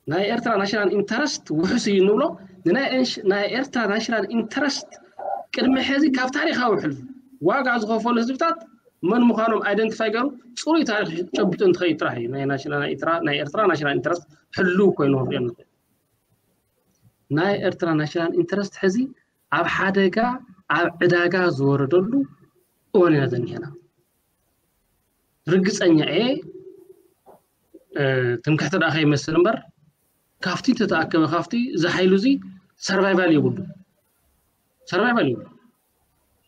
ናይ ኤርትራ ናሽናል ኢንተረስት ውሑስ እዩ እንብሎ ንናይ ኤርትራ ናሽናል ኢንተረስት ቅድሚ ሕዚ ካብ ታሪኻዊ ሕልፉ ዋጋ ዝኸፈሉ ህዝብታት መን ምዃኖም ኣይደንቲፋይ ገሩ ፅሩይ ታሪክ ጨቢጡ እንትኸይድ ጥራሕ እዩ ናይ ኤርትራ ናሽናል ኢንተረስት ሕልው ኮይኑ ክንሪኦ ንኽእል። ናይ ኤርትራ ናሽናል ኢንተረስት ሕዚ ኣብ ሓደጋ ኣብ ዕዳጋ ዝወረደሉ እዋን ኢና ዘኒሀና። ርግፀኛ እየ ትምክሕቲ ደኣ ከይመስል እምበር ካብቲ ተተኣከበ ካብቲ እዚ ሓይሉ እዚ ሰርቫይቫል የብሉ ሰርቫይቫል የብሉ።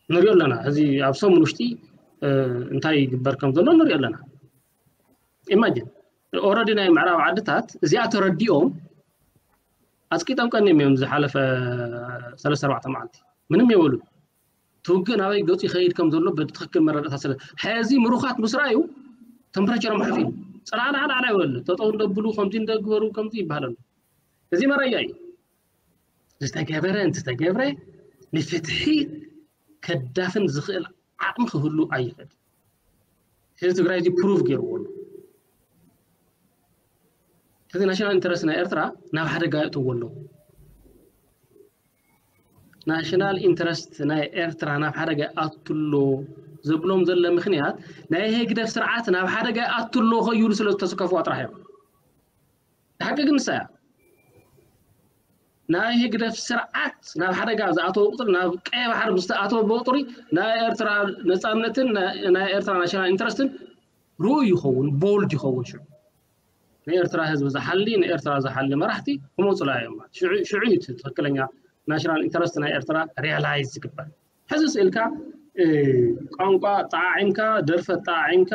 ንሪኦ ኣለና። እዚ ኣብ ሰሙን ውሽጢ እንታይ ይግበር ከም ዘሎ ንሪኦ ኣለና። ኢማጂን ኦረዲ ናይ ምዕራብ ዓድታት እዚኣ ተረዲኦም ኣፅቂጦም ቀኒም እዮም ዝሓለፈ ሰለስተ ኣርባዕተ መዓልቲ ምንም የበሉ። ትውግእ ናበይ ገፁ ይኸይድ ከም ዘሎ ብትኽክል መረዳእታ ስለ ሕዚ ምሩኻት ምስ ረኣዩ ተምፕሬቸሮም ሓፊ ፅናዕናዕናዕና ይበሉ። ጠጠው እንደብሉ ከምዚ እንደግበሩ ከምዚ ይበሃል ኣሎ። እዚ መረያ እዩ። ዝተገበረ እንተተገብረ ንፍትሒ ከዳፍን ዝኽእል ዓቕሚ ክህሉ ኣይኽእል። ህዝቢ ትግራይ እዚ ፕሩቭ ገይርዎ ኣሎ። ሕዚ ናሽናል ኢንተረስት ናይ ኤርትራ ናብ ሓደጋ የእትዎ ኣለዉ። ናሽናል ኢንተረስት ናይ ኤርትራ ናብ ሓደጋ ኣትሎ ዘብሎም ዘሎ ምኽንያት ናይ ህግደፍ ስርዓት ናብ ሓደጋ ኣትሎ ከይብሉ ስለ ዝተስከፍዋ ጥራሕ እዮም። ሓቂ ግን ንሳ እያ። ናይ ህግደፍ ስርዓት ናብ ሓደጋ ዝኣተወ ቁፅሪ፣ ናብ ቀይ ባሕሪ ምስ ተኣተወ ብቁፅሪ ናይ ኤርትራ ነፃነትን ናይ ኤርትራ ናሽናል ኢንትረስትን ርኡይ ይኸውን፣ ቦልድ ይኸውን። ሽዑ ንኤርትራ ህዝቢ ዝሓሊ፣ ንኤርትራ ዝሓሊ መራሕቲ ክመፁላ እዮም። ሽዑ እዩ ትክክለኛ ናሽናል ኢንተረስት ናይ ኤርትራ ሪያላይዝ ዝግበር። ሕዚ ስእልካ ቋንቋ ጠዓዒምካ፣ ደርፈ ጠዓዒምካ፣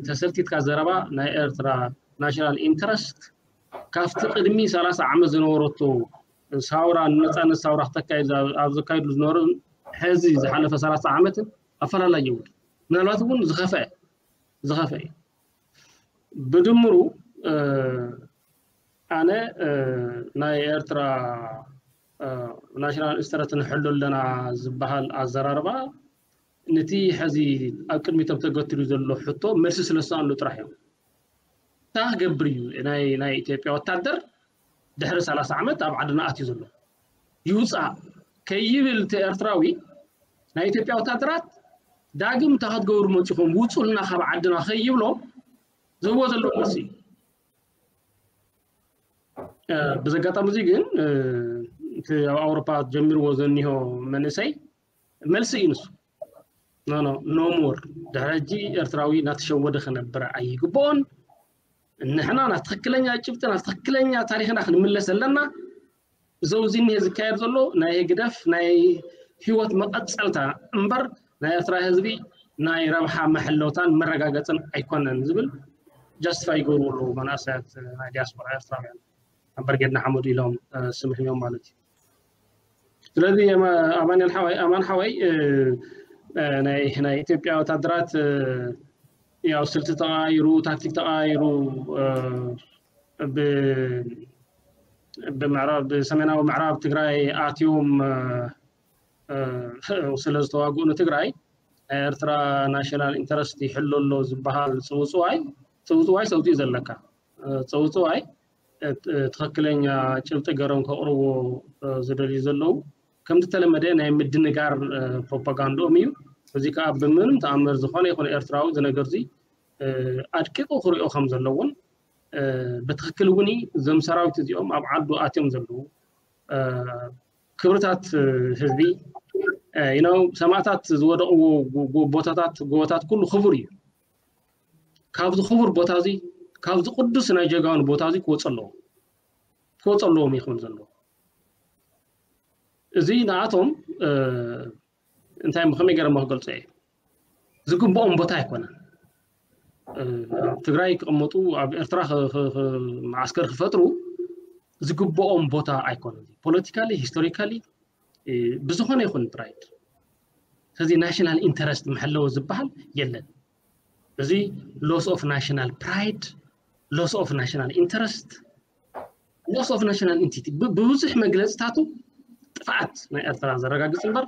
ተሰልቲትካ ዘረባ ናይ ኤርትራ ናሽናል ኢንተረስት ካብቲ ቅድሚ ሰላሳ ዓመት ዝነበረቶ ሳውራ፣ ንነፃነት ሳውራ ክተካይድ ኣብ ዘካይዱ ዝነበሩ ሕዚ ዝሓለፈ ሰላሳ ዓመትን ኣፈላላይ የብሉ። ምናልባት እውን ዝኸፈአ ዝኸፈአ እዩ። ብድምሩ ኣነ ናይ ኤርትራ ናሽናል ኢንተረስት ንሕሉ ኣለና ዝበሃል ኣዘራርባ ነቲ ሕዚ ኣብ ቅድሚቶም ተገትሉ ዘሎ ሕቶ መልሲ ስለ ዝሰኣንሉ ጥራሕ እዮም። እንታይ ክገብር እዩ ናይ ናይ ኢትዮጵያ ወታደር ድሕሪ ሰላሳ ዓመት ኣብ ዓድና ኣትዩ ዘሎ? ይውፃእ ከይብል እቲ ኤርትራዊ ናይ ኢትዮጵያ ወታደራት ዳግም እንታይ ክትገብሩ መፂኹም ውፁልና ካብ ዓድና ከይብሎ ዝህቦ ዘሎ መልሲ እዩ። ብዘጋጣሚ እዚ ግን እቲ ኣብ ኣውሮፓ ጀሚርዎ ዘኒሆ መንእሰይ መልሲ እዩ ንሱ። ኖ ኖ ኖ ሞር። ድሕሪ ሕጂ ኤርትራዊ እናተሸወደ ክነብር ኣይግብኦን። ንሕና ናብ ትኽክለኛ ጭብጢ ናብ ትኽክለኛ ታሪኽና ክንምለስ ኣለና። እዚ ኣብዚ እኒሄ ዝካየድ ዘሎ ናይ ህግደፍ ናይ ህይወት መቐፀልታ እምበር ናይ ኤርትራ ህዝቢ ናይ ረብሓ መሐለውታን መረጋገፅን ኣይኮነን ዝብል ጃስቲፋይ ይገብሩ ኣለዉ መናእሰያት ናይ ዲያስፖራ ኤርትራውያን። ኣምበር ጌድና ሓመዱ ኢሎም ስም ሂቦም ማለት እዩ። ስለዚ ኣማንኤል ሓወይ ኣማን ሓወይ ናይ ናይ ኢትዮጵያ ወታደራት ያው ስልቲ ተቐያይሩ ታክቲክ ተቐያይሩ ብምዕራብ ብሰሜናዊ ምዕራብ ትግራይ ኣትዮም ስለ ዝተዋግኡ ንትግራይ ናይ ኤርትራ ናሽናል ኢንተረስት ይሕሎ ኣሎ ዝበሃል ፅውፅዋይ ፅውፅዋይ ሰውቲ እዩ ዘለካ። ፅውፅዋይ ትኽክለኛ ጭብጢ ገሮም ከቕርቦ ዝደልዩ ዘለዉ ከምቲ ተለመደ ናይ ምድንጋር ፕሮፓጋንድኦም እዩ። እዚ ከዓ ብምንም ተኣምር ዝኾነ ይኹን ኤርትራዊ እዚ ነገር እዚ ኣድቂቑ ክሪኦ ከም ዘለዎን ብትኽክል እውን እዞም ሰራዊት እዚኦም ኣብ ዓዱ ኣትዮም ዘለዉ ክብርታት ህዝቢ ነው ሰማእታት ዝወደቕዎ ቦታታት ጎቦታት ኩሉ ክቡር እዩ። ካብዚ ክቡር ቦታ እዚ ካብዚ ቅዱስ ናይ ጀጋኑ ቦታ እዚ ክወፅ ኣለዎ ክወፅ ኣለዎም ይኽብል ዘለዎ እዚ ንኣቶም እንታይ ከመይ ገይረ ክገልፆ እየ ዝግብኦም ቦታ ኣይኮነን። ኣብ ትግራይ ክቕመጡ ኣብ ኤርትራ መዓስከር ክፈጥሩ ዝግብኦም ቦታ ኣይኮነን። ፖለቲካሊ ሂስቶሪካሊ ብዝኾነ ይኹን ፕራይድ ስለዚ ናሽናል ኢንተረስት መሐለዊ ዝበሃል የለን። እዚ loss of national pride, loss of national interest, loss of national entity ብብዙሕ መግለፅታቱ ጥፍኣት ናይ ኤርትራ ዘረጋግፅ እምበር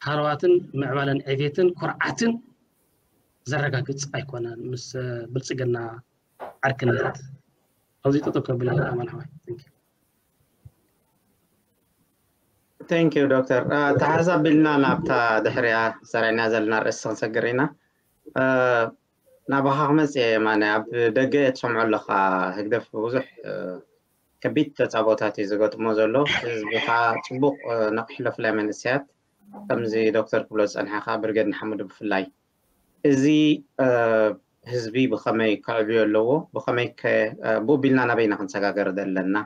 ሃለዋትን ምዕባለን ዕቤትን ኩርዓትን ዘረጋግፅ ኣይኮነን። ምስ ብልፅግና ዓርክነት ኣብዚ ጠጠው ከብል ኣማን ሓዋይ Thank you ዶክተር። ተሓሳቢልና ናብታ ድሕሪያ ሰሪዕና ዘለና ርእሲ ክንሰግር ኢና። ናባኻ ክመፅእ እየ የማነ። ኣብ ደገ ትሰምዖ ኣለኻ ህግደፍ ብዙሕ ከቢድ ተፃቦታት እዩ ዝገጥሞ ዘሎ። ህዝቢ ከዓ ፅቡቕ ነቕሕሎ ፍላይ መንእሰያት ከምዚ ዶክተር ክብሎ ዝፀንሐ ከዓ ብርጌድ ንሓመዱ ብፍላይ እዚ ህዝቢ ብኸመይ ከዕብዮ ኣለዎ ብኸመይ ብኡ ቢልና ናበይና ክንሰጋገር ዘለና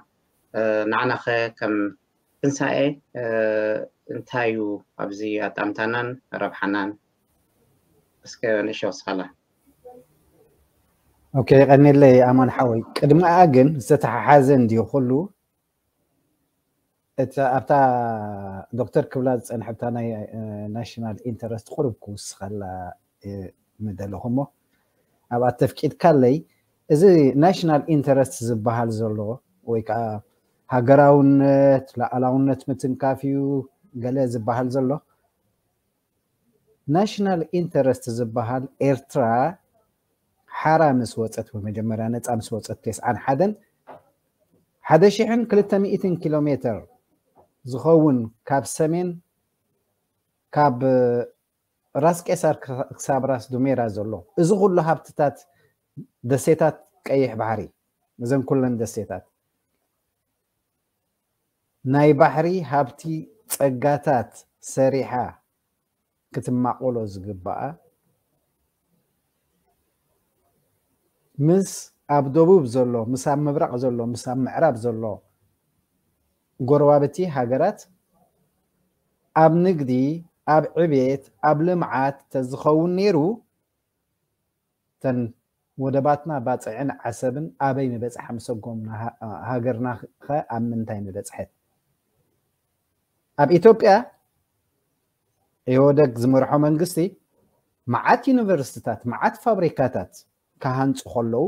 ንዓናኸ ከም ትንሳኤ እንታይ እዩ ኣብዚ ኣጣምታናን ረብሓናን እስከ ንእሸ ወስኻላ ኦኬ ቀኒለይ ኣማን ሓወይ ቅድሚኣ ግን ዝተተሓሓዘ እንድዩ ኩሉ እቲ ኣብታ ዶክተር ክብላ ዝፀንሐ ብታ ናይ ናሽናል ኢንተረስት ቁሩብ ክውስኸላ ምደለኹ እሞ ኣብኣ ተፍቂድካለይ እዚ ናሽናል ኢንተረስት ዝበሃል ዘሎ ወይ ከዓ ሃገራውነት ላኣላውነት ምትንካፍ እዩ ገለ ዝበሃል ዘሎ ናሽናል ኢንተረስት ዝበሃል ኤርትራ ሓራ ምስ ወፀት ብመጀመርያ ነፃ ምስ ወፀት ተስዓን ሓደን ሓደ ሽሕን ክልተ ሚእትን ኪሎ ሜትር ዝኸውን ካብ ሰሜን ካብ ራስ ቄሳር ክሳብ ራስ ዱሜራ ዘሎ፣ እዚ ኩሉ ሃብትታት ደሴታት ቀይሕ ባሕሪ፣ እዘን ኩለን ደሴታት ናይ ባሕሪ ሃብቲ ጸጋታት ሰሪሓ ክትማቆሎ ዝግባኣ፣ ምስ ኣብ ደቡብ ዘሎ፣ ምስ ኣብ ምብራቕ ዘሎ፣ ምስ ኣብ ምዕራብ ዘሎ ጎረባብቲ ሃገራት ኣብ ንግዲ፣ ኣብ ዕቤት፣ ኣብ ልምዓት ተዝኸውን ነይሩ፣ እተን ወደባትና ባጽዕን ዓሰብን ኣበይ ምበጽሓ ምሰጎምና፣ ሃ-፣ ሃገርና ኸ ኣብ ምንታይ ምበጽሐት? ኣብ ኢትዮጵያ ኢህወደግ ዝመርሖ መንግስቲ መዓት ዩኒቨርሲቲታት፣ መዓት ፋብሪካታት ክሃንጹ ከለዉ፣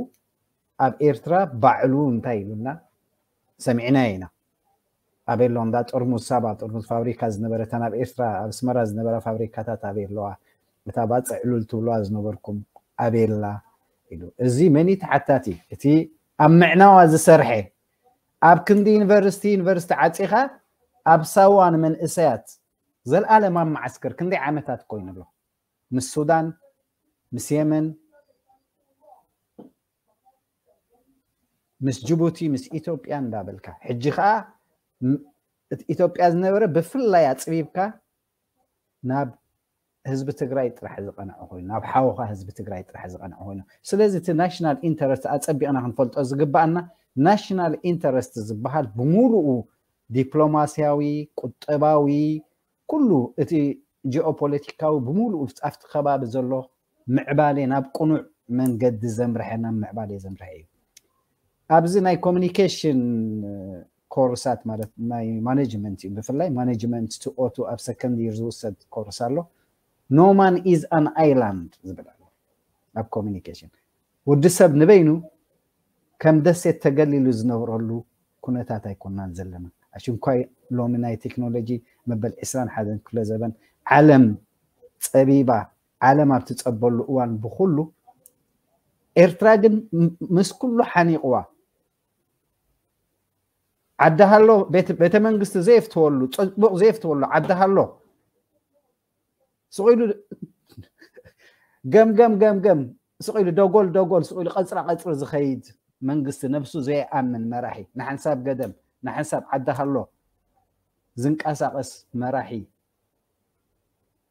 ኣብ ኤርትራ ባዕሉ እንታይ ኢሉና ሰሚዕናዮ ኢና። ኣበይ ኣሎ እንዳ ጥርሙዝ ሳባ፣ ጥርሙዝ ፋብሪካ ዝነበረ፣ እተን ኣብ ኤርትራ፣ ኣብ ኣስመራ ዝነበራ ፋብሪካታት ኣበይ ኣለዋ? እታ ባጽዕ ሉል ትብልዋ ዝነበርኩም ኣበይ ኣላ? ኢሉ። እዚ መን እዩ ተሓታቲ? እቲ ኣብ ምዕናዋ ዝሰርሐ፣ ኣብ ክንዲ ዩኒቨርሲቲ፣ ዩኒቨርሲቲ ዓጺኻ ኣብ ሳዋ ንመንእሰያት ዘልኣለማዊ መዓስከር ክንደይ ዓመታት ኮይኑ ኣሎ? ምስ ሱዳን፣ ምስ የመን፣ ምስ ጅቡቲ፣ ምስ ኢትዮጵያ እንዳበልካ፣ ሕጂ ኸኣ ም-፣ እቲ ኢትዮጵያ ዝነበረ ብፍላይ ኣጽቢብካ ናብ ህዝቢ ትግራይ ጥራሕ ዝቐንዐ ኮይኑ፣ ናብ ሓውኻ ህዝቢ ትግራይ ጥራሕ ዝቐንዐ ኮይኑ። ስለዚ እቲ ናሽናል ኢንተረስት ኣጸቢቕና ክንፈልጦ ዝግባኣና፣ ናሽናል ኢንተረስት ዝበሃል ብምሉኡ ዲፕሎማስያዊ፣ ቁጠባዊ፣ ኩሉ እቲ ጂኦፖለቲካዊ ብምሉኡ ኣብቲ ከባቢ ዘሎ ምዕባሌ ናብ ቅኑዕ መንገዲ ዘምርሐ፣ ናብ ምዕባሌ ዘምርሐ እዩ። ኣብዚ ናይ ኮሚኒኬሽን ኮርሳት፣ ማለት ናይ ማኔጅመንት እዩ፣ ብፍላይ ማኔጅመንት ቱ ኦ ቱ ኣብ ሰከንድ ይር ዝውሰድ ኮርስ ኣሎ። No man is an island ዝብል ኣሎ ኣብ ኮሚኒኬሽን። ወዲ ሰብ ንበይኑ ከም ደሴት ተገሊሉ ዝነብረሉ ኩነታት ኣይኮናን ዘለና። ኣሽንኳይ ሎሚ ናይ ቴክኖሎጂ መበል ዕስራን ሓደን ክፍለ ዘበን ዓለም ጸቢባ፣ ዓለም ኣብ ትጸበሉ እዋን ብኹሉ፣ ኤርትራ ግን ም-፣ ምስ ኩሉ ሓኒቕዋ። ዓዲ ሃሎ፣ ቤት-፣ ቤተ መንግስቲ ዘየፍትወሉ፣ ጽቡቕ ዘየፍትወሉ ዓዲ ሃሎ፣ ስቕ ኢሉ ገምገም ገምገም፣ ስቕ ኢሉ ደጎል ደጎል፣ ስቕ ኢሉ ቀጽራ ቀጽሪ ዝኸይድ መንግስቲ፣ ነብሱ ዘይኣምን መራሒ፣ ንሓንሳብ ገደም፣ ንሓንሳብ ዓዲ ሃሎ ዝንቀሳቐስ መራሒ፣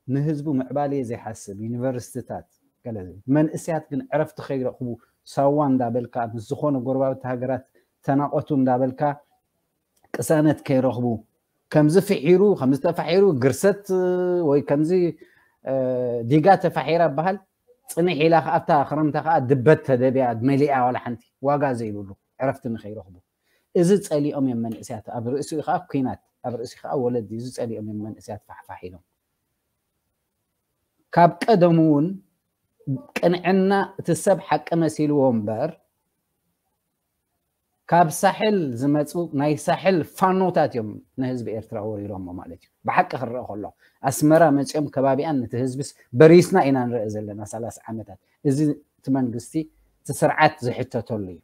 ንህዝቡ ምዕባሌ ዘይሓስብ፣ ዩኒቨርሲቲታት፣ ገለ መንእሰያት ግን ዕረፍቲ ከይረኽቡ፣ ሳዋ እንዳበልካ፣ ምስ ዝኾነ ጎረባብቲ ሃገራት ተናቆቱ እንዳበልካ ቅሳነት ከይረኽቡ፣ ከምዚ ፍሒሩ፣ ከምዚ ተፋሒሩ፣ ግርሰት ወይ ከምዚ፣ እ፣ ዲጋ ተፋሒራ በሃል፣ ጽንሕ ኢላ ከኣ ኣብታ ክረምታ ከኣ ድበት ተደብያ፣ መሊኣ፣ ዋላ ሓንቲ ዋጋ ዘይብሉ ዕረፍቲ ንኸይረኽቡ። እዚ ጸሊኦም እዮም መንእሰያት። ኣብ ርእሲኡ ከኣ ኲናት፣ ኣብ ርእሲኡ ከኣ ወለዲ፣ እዚ ጸሊኦም እዮም መንእሰያት ፋሕፋሕ ኢሎም። ካብ ቀደሙ እውን ቅንዕና እቲ ሰብ ሓቂ መሲልዎ እምበር፣ ካብ ሳሕል ዝመጹ ናይ ሳሕል ፋኖታት እዮም ንህዝቢ ኤርትራ ወሪሮሞ ማለት እዩ። ብሓቂ ክረአ ከሎ፣ ኣስመራ መጺኦም ከባቢኣን ነቲ ህዝብስ በሪስና ኢና ንርኢ ዘለና ሰላሳ ዓመታት። እዚ እቲ መንግስቲ፣ እቲ ስርዓት ዝሕተተሉ እዩ።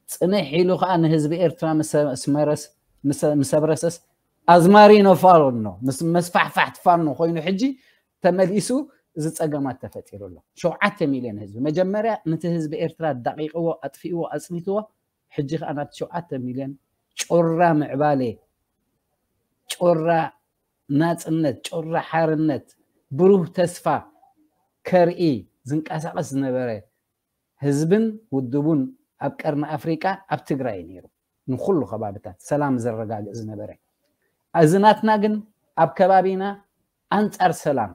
ጽንሕ ኢሉ ከኣ ንህዝቢ ኤርትራ ምስ፣ ምስ መረስ-፣ ምስ፣ ምስ ኣብረሰስ ኣዝማሪኖ ፋኖ፣ ምስ መስፋሕፋሕቲ ፋኖ ኮይኑ ሕጂ ተመሊሱ እዚ ጸገማት ተፈጢሩ ኣሎ። ሸውዓተ ሚልዮን ህዝቢ፣ መጀመርያ ነቲ ህዝቢ ኤርትራ ዳቂቕዎ፣ ኣጥፊእዎ፣ ኣጽኒትዎ፣ ሕጂ ከኣ ናብቲ ሸውዓተ ሚልዮን ጮራ ምዕባሌ፣ ጮራ ናጽነት፣ ጮራ ሓርነት፣ ብሩህ ተስፋ ከርኢ ዝንቀሳቐስ ዝነበረ ህዝብን ውድቡን ኣብ ቀርኒ ኣፍሪቃ፣ ኣብ ትግራይ ነይሩ። ንኹሉ ከባብታት ሰላም ዘረጋግእ ዝነበረ። እዚ ናትና ግን ኣብ ከባቢና ኣንጻር ሰላም፣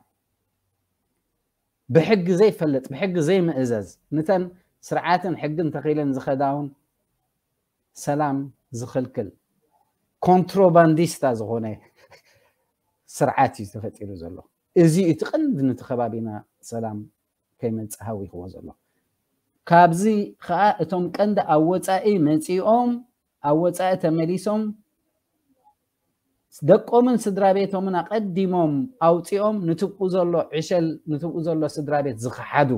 ብሕጊ ዘይፈልጥ፣ ብሕጊ ዘይምእዘዝ፣ ንተን ስርዓትን ሕግን ተኺለን ዝኸዳ እውን ሰላም ዝኽልክል፣ ኮንትሮባንዲስታ ዝኾነ ስርዓት እዩ ተፈጢሩ ዘሎ። እዚ እቲ ቀንዲ ነቲ ከባቢና ሰላም ከይመጽእ ሃዊኽዎ ዘሎ። ካብዚ ኸኣ እቶም ቀንዲ ኣብ ወጻኢ መጺኦም፣ ኣብ ወጻኢ ተመሊሶም፣ ደቆምን ስድራ ቤቶምን ኣቐዲሞም ኣውጺኦም፣ ንትብኡ ዘሎ ዕሸል፣ ንትብኡ ዘሎ ስድራ ቤት ዝኸሓዱ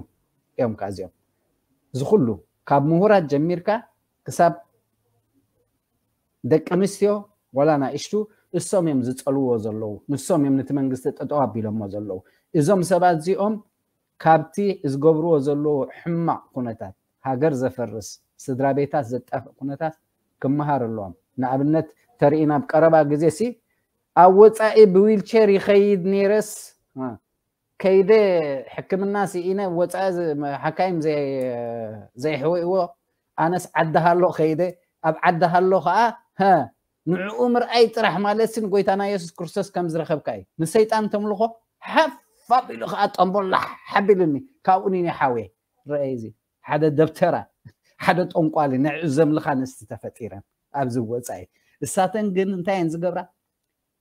እዮም። ካብዚኦም፣ እዚ ኩሉ ካብ ምሁራት ጀሚርካ ክሳብ ደቂ ኣንስትዮ፣ ዋላ ናእሽቱ፣ እሶም እዮም ዝፀልዎ ዘለዉ፣ ንሶም እዮም ነቲ መንግስቲ ጠጠው ኣቢሎሞ ዘለዉ። እዞም ሰባት እዚኦም ካብቲ ዝገብርዎ ዘለዉ ሕማቕ ኩነታት፣ ሃገር ዘፈርስ፣ ስድራ ቤታት ዘጣፍእ ኩነታት ክመሃር ኣለዎም። ንኣብነት ተርኢ ናብ ቀረባ ግዜ ሲ ኣብ ወፃኢ ብዊልቸር ይኸይድ ነይረስ ከይደ ሕክምና ስኢነ ወፃኢ ሓካይም ዘይሕወይዎ ኣነስ ዓዲ ሃሎ ከይደ ኣብ ዓዲ ሃሎ ከዓ ንዕኡ ምርኣይ ጥራሕ ማለት ንጎይታና የሱስ ክርስቶስ ከም ዝረኸብካ እዩ። ንሰይጣን ተምልኾ ሓፍ ኣቢሉ ከዓ ጠንቦላ ሓቢሉኒ ካብኡ ኒኒ ሓወየ ረአይ እዚ ሓደ ደብተራ ሓደ ጠንቋሊ ንዕኡ ዘምልኻ ኣንስቲ ተፈጢረን ኣብዚ ወፃኢ። እሳተን ግን እንታይ እየን ዝገብራ?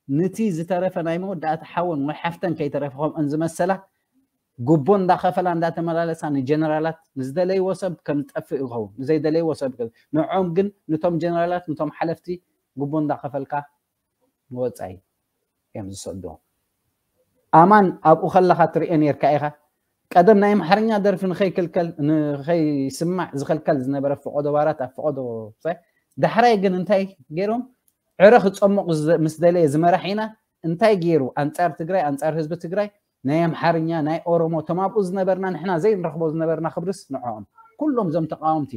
ንቲ ዝተረፈ ናይ መወዳእታ ሓወን ወይ ሓፍተን ከይተረፈ ከምኦን ዝመሰላ ጉቦ እንዳኸፈላ እንዳተመላለሳ ንጀነራላት ንዝደለይዎ ሰብ ከም ዝጠፍእ ይኸውን ንዘይደለይዎ ሰብ ንዕኦም ግን ንቶም ጀነራላት ንቶም ሓለፍቲ ጉቦ እንዳኸፈልካ ንወፃኢ እዮም ዝሰድዎም። ኣማን ኣብኡ ከለኻ ትሪኦ ነርካ ኢኻ። ቀደም ናይ ኣምሓርኛ ደርፊ ንኸይክልከል ንኸይስማዕ ዝኸልከል ዝነበረ ፈቆዶ ባራት ኣብ ፈቆዶ ዳሕራይ ግን እንታይ ገይሮም ዕረ ክፀሙቕ ምስ ደለየ ዝመራሕ ኢና እንታይ ገይሩ ኣንፃር ትግራይ ኣንፃር ህዝቢ ትግራይ ናይ ኣምሓርኛ ናይ ኦሮሞ እቶም ኣብኡ ዝነበርና ንሕና ዘይንረኽቦ ዝነበርና ክብርስ ንዕኦም ኩሎም እዞም ተቃወምቲ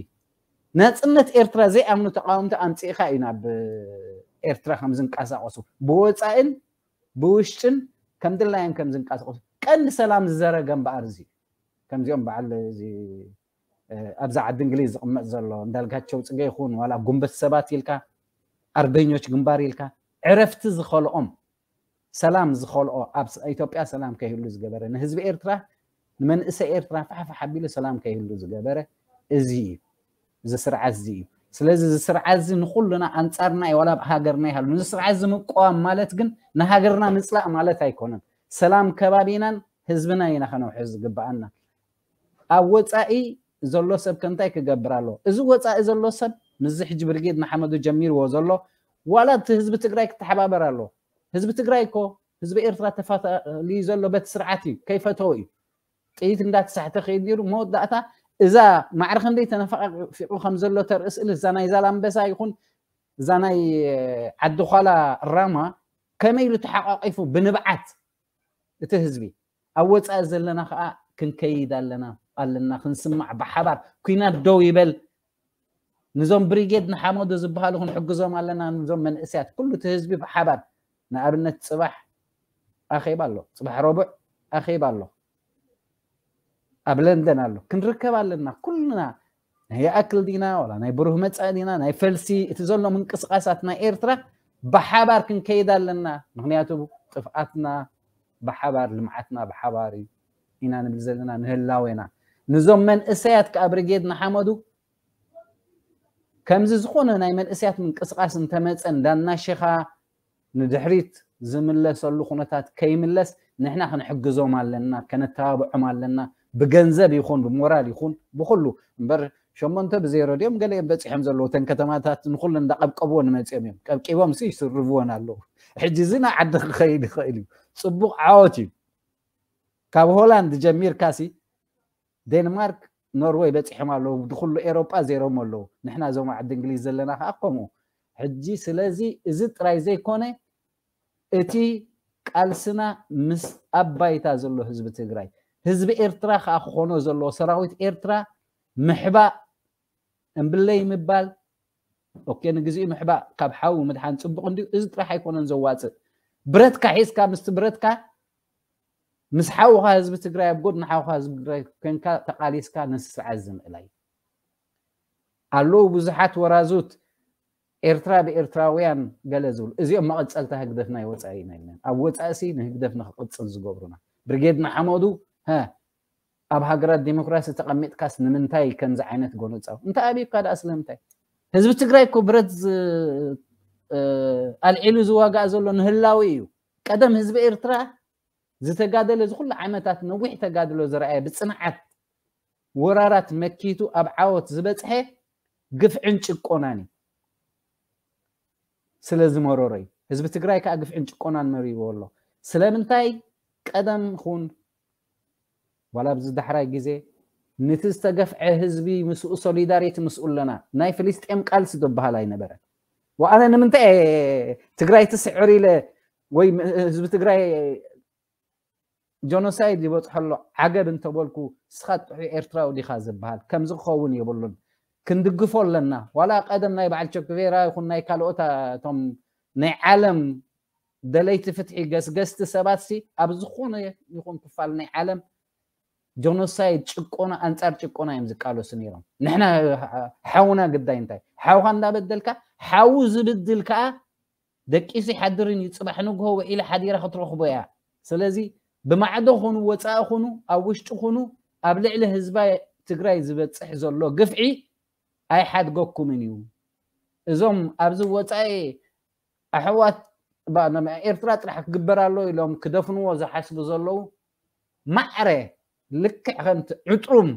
ናፅነት ኤርትራ ዘይኣምኑ ተቃወምቲ ኣምፂእኻ እዩ ናብ ኤርትራ ከም ዝንቀሳቀሱ ብወፃእን ብውሽጥን ከም ድላዮም ከም ዝንቀሳቀሱ ቀንዲ ሰላም ዝዘረገ እምበኣር እዚ ከምዚኦም በዓል ኣብዚ ዓዲ እንግሊዝ ዝቕመጥ ዘሎ እንዳልጋቸው ፅገ ይኹን ዋላ ጉንበት ሰባት ኢልካ ኣርበኞች ግንባር ኢልካ ዕረፍቲ ዝኸልኦም ሰላም ዝኸልኦ ኣብ ኢትዮጵያ ሰላም ከይህሉ ዝገበረ ንህዝቢ ኤርትራ ንመንእሰይ ኤርትራ ፋሕፋሕ ኣቢሉ ሰላም ከይህሉ ዝገበረ እዚ እዩ። እዚ ስርዓት እዚ እዩ። ስለዚ እዚ ስርዓት እዚ ንኩልና ኣንፃርና እዩ ዋላ ኣብ ሃገርና ይሃሉ ነዚ ስርዓት እዚ ምቋም ማለት ግን ንሃገርና ምፅላእ ማለት ኣይኮነን። ሰላም ከባቢናን ህዝብና ኢና ከነውሕስ ዝግበኣና። ኣብ ወፃኢ ዘሎ ሰብ ከ እንታይ ክገብር ኣለዎ? እዚ ወፃኢ ዘሎ ሰብ ምስዚ ሕጂ ብርጌድ ንሓመዱ ጀሚርዎ ዘሎ ዋላ እቲ ህዝቢ ትግራይ ክተሓባበር ኣለዎ። ህዝቢ ትግራይ እኮ ህዝቢ ኤርትራ ተፋታልዩ ዘሎ በቲ ስርዓት እዩ ከይፈተዎ እዩ ጥይት እንዳተሳሕተ ከይድ ነይሩ መወዳእታ እዛ ማዕረ ክንደይ ተነፋቂቁ ከም ዘሎ ተርኢ ስእሊ እዛ ናይ ዛላምበሳ ይኹን እዛ ናይ ዓዲ ኳላ ራማ ከመይ ኢሉ ተሓቋቂፉ ብንብዓት እቲ ህዝቢ ኣብ ወፃኢ ዘለና ከዓ ክንከይድ ኣለና ኣለና ክንስማዕ ብሓባር ኩናት ደው ይበል ንዞም ብሪጌድ ንሓመዱ ዝበሃሉ ክንሕግዞም ኣለና ንዞም መንእስያት ኩሉ እቲ ህዝቢ ብሓባር ንኣብነት ፅባሕ ኣኼባ ኣሎ ፅባሕ ረቡዕ ኣኼባ ኣሎ ኣብ ለንደን ኣሎ ክንርከብ ኣለና ኩልና ናይ ይኣክል ዲና ዋላ ናይ ብሩህ መፃኢ ዲና ናይ ፈልሲ እቲ ዘሎ ምንቅስቃሳት ናይ ኤርትራ ብሓባር ክንከይድ ኣለና ምክንያቱ ጥፍኣትና ብሓባር ልምዓትና ብሓባር እዩ ኢና ንብል ዘለና ንህላዌና ንዞም መንእሰያት ከዓ ብርጌድ ንሓመዱ ከምዚ ዝኾነ ናይ መንእስያት ምንቅስቃስ እንተመፀ እንዳናሸኻ ንድሕሪት ዝምለሰሉ ኩነታት ከይምለስ ንሕና ክንሕግዞም ኣለና ከነተባብዖም ኣለና ብገንዘብ ይኹን ብሞራል ይኹን ብኩሉ እምበር ሸሞንተ ብዜሮ ድዮም ገለ እዮም በፂሖም ዘለዉ ተን ከተማታት ንኩሉ እንዳቀብቀብዎ ንመፅኦም እዮም ቀብቂቦም ሲ ይስርብዎን ኣለዉ ሕጂ እዚ ናብ ዓዲ ክኸይድ ይኽእል እዩ ፅቡቅ ዓወት እዩ ካብ ሆላንድ ጀሚርካ ሲ ዴንማርክ ኖርወይ በፂሖም ኣለዉ ንኩሉ ኤሮጳ ዜሮም ኣለዉ ንሕና እዞም ዓዲ እንግሊዝ ዘለና ከዓ ከምኡ ሕጂ ስለዚ እዚ ጥራይ ዘይኮነ እቲ ቃልስና ምስ ኣብ ባይታ ዘሎ ህዝቢ ትግራይ ህዝቢ ኤርትራ ከዓ ክኾኖ ዘለዎ ሰራዊት ኤርትራ ምሕባእ እምብለይ ምባል ኦኬ ንግዚኡ ምሕባእ ካብ ሓዊ ምድሓን ፅቡቅ እንድዩ እዚ ጥራሕ ኣይኮነን ዘዋፅእ ብረትካ ሒዝካ ምስቲ ብረትካ ምስ ሓውኻ ህዝቢ ትግራይ ኣብ ጎድኒ ሓውኻ ህዝቢ ትግራይ ኮንካ ተቃሊስካ ነስርዓት ዝምእላይ ኣለዉ ብዙሓት ወራዙት ኤርትራ ብኤርትራውያን ገለ ዝብሉ እዚኦም መቐፀልታ ህግደፍ ናይ ወፃኢ ኢና ኢልና ኣብ ወፃኢ ሲ ንህግደፍ ንክቅፅል ዝገብሩና ብርጌድ ንሓመዱ ኣብ ሃገራት ዲሞክራሲ ተቐሚጥካስ ንምንታይ ከምዚ ዓይነት ጎነፃዊ እንታይ ኣብዩካ ደኣ ስለምንታይ ህዝቢ ትግራይ እኮ ብረት ኣልዒሉ ዝዋጋእ ዘሎ ንህላዊ እዩ ቀደም ህዝቢ ኤርትራ ዝተጋደለ ዝኩሉ ዓመታት ነዊሕ ተጋድሎ ዝረኣየ ብፅንዓት ወራራት መኪቱ ኣብ ዓወት ዝበፅሐ ግፍዕን ጭቆናን እዩ ስለ ዝመረሮ እዩ ህዝቢ ትግራይ ከዓ ግፍዕን ጭቆናን መሪርዎ ኣሎ ስለምንታይ ቀደም ኹን ዋላ ኣብዚ ዳሕራይ ግዜ ንቲ ዝተገፍዐ ህዝቢ ምስኡ ሶሊዳሪቲ ምስኡ ኣለና ናይ ፍልስጤም ቃልሲ ዝበሃል ኣይነበረን ወኣነ ንምንታይ ትግራይ ትስዕር ኢለ ወይ ህዝቢ ትግራይ ጆኖሳይድ ይበፅሖ ኣሎ ዓገብ እንተበልኩ፣ ስኻ ጥዑይ ኤርትራዊ ዲኻ ዝበሃል ከምዚ ክኸውን የብሉን። ክንድግፎ ኣለና። ዋላ ቀደም ናይ በዓል ቸኩቬራ ይኹን ናይ ካልኦት እቶም ናይ ዓለም ደለይቲ ፍትሒ ገስገስቲ ሰባት ሲ ኣብ ዝኾነ ይኹን ክፋል ናይ ዓለም ጆኖሳይድ ጭቆና ኣንጻር ጭቆና እዮም ዝቃለሱ ነይሮም። ንሕና ሓውና ግዳይ እንታይ ሓውካ እንዳበደልካ ሓው ዝብድል ከዓ ደቂሱ ይሓድርን እዩ። ጽባሕ ንግሆ ውዒላ ሓዲራ ክትረኽቦ እያ። ስለዚ ብማዕዶ ኹኑ ወጻኢ ኹኑ ኣብ ውሽጢ ኹኑ ኣብ ልዕሊ ህዝባ ትግራይ ዝበጽሕ ዘሎ ግፍዒ ኣይሓድገኩምን እዩ። እዞም ኣብዚ ወጻኢ ኣሕዋት ኤርትራ ጥራሕ ክግበር ኣሎ ኢሎም ክደፍንዎ ዝሓስቡ ዘለዉ ማዕረ ልክዕ ከምቲ ዕጥሩም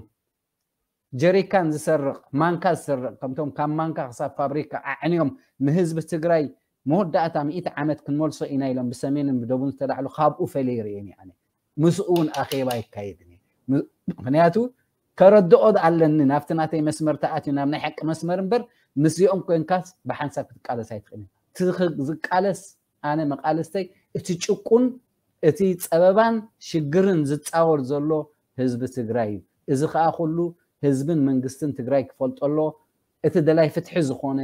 ጀሪካን ዝሰርቕ ማንካ ዝሰርቕ ከምቶም ካብ ማንካ ክሳብ ፋብሪካ ኣዕንዮም ንህዝቢ ትግራይ መወዳእታ ሚእቲ ዓመት ክንመልሶ ኢና ኢሎም ብሰሜንን ብደቡን ዝተላዕሉ ካብኡ ፈለየ ይርእየን እየ። ምስኡ እውን ኣኼባ ይካየድን እዩ። ምክንያቱ ከረድኦ ኣለኒ ናብቲ ናተይ መስመር ተኣትዩ ናብ ናይ ሓቂ መስመር እምበር ምስዚኦም ኮንካስ ብሓንሳብ ክትቃለስ ኣይትኽእልን። ዝቃለስ ኣነ መቃልስተይ እቲ ጭቁን እቲ ፀበባን ሽግርን ዝፃወር ዘሎ ህዝቢ ትግራይ እዩ። እዚ ከዓ ኩሉ ህዝብን መንግስትን ትግራይ ክፈልጦ ኣሎ። እቲ ደላይ ፍትሒ ዝኾነ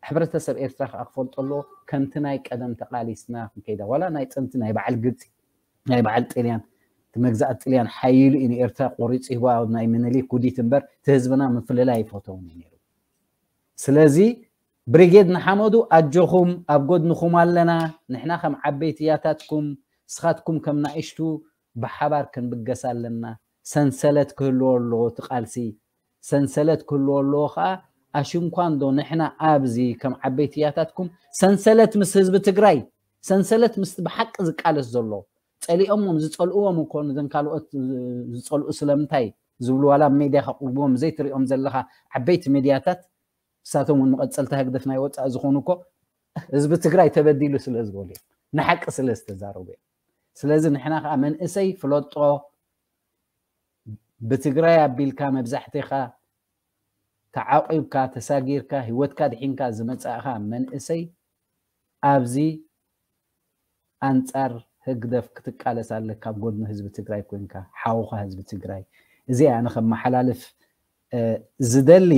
ሕብረተሰብ ኤርትራ ከዓ ክፈልጦ ኣሎ። ከምቲ ናይ ቀደም ተቃሊስና ክንከይዳ ዋላ ናይ ጥንቲ ናይ በዓል ግብፂ ናይ በዓል ጥልያን እቲ መግዛእቲ ጥልያን ሓይሉ እዩ ንኤርትራ ቆሪፁ ሂቦ ናይ ምኒልክ ውዲት እምበር እቲ ህዝብና ምፍልላይ ኣይፈተውን እዩ ነይሩ። ስለዚ ብሪጌድ ንሓመዱ ኣጆኹም ኣብ ጎድንኹም ኣለና። ንሕና ከም ዓበይቲ ያታትኩም ንስኻትኩም ከም ናእሽቱ ብሓባር ክንብገስ ኣለና። ሰንሰለት ክህልዎ ኣለዎ እቲ ቃልሲ። ሰንሰለት ክህልዎ ኣለዎ ከዓ ኣሽንኳንዶ ንሕና ኣብዚ ከም ዓበይቲ ያታትኩም ሰንሰለት ምስ ህዝቢ ትግራይ ሰንሰለት ምስ ብሓቂ ዝቃለስ ዘሎ ፀሊኦሞም ዝፀልእዎም እኮ ንዘን ካልኦት ዝፀልኡ ስለምንታይ ዝብሉ ዋላ ኣብ ሜድያ ከቅርብዎም ዘይትሪኦም ዘለካ ዓበይቲ ሚድያታት ንሳቶም እውን መቐፀልታ ህግደፍ ናይ ወፃኢ ዝኾኑ እኮ ህዝቢ ትግራይ ተበዲሉ ስለ ዝበሉ እዮም። ንሓቂ ስለ ዝተዛረቡ እዮም። ስለዚ ንሕና ከዓ መንእሰይ ፍለጦ ብትግራይ ኣቢልካ መብዛሕትኻ ተዓቂብካ ተሳጊርካ ህይወትካ ድሒንካ ዝመፃእኻ መንእሰይ ኣብዚ ኣንፃር ህግደፍ ክትቃለስ ኣለካ ኣብ ጎድኒ ህዝቢ ትግራይ ኮንካ ሓውኻ ህዝቢ ትግራይ። እዚ ኣነ ከመሓላልፍ ዝደሊ።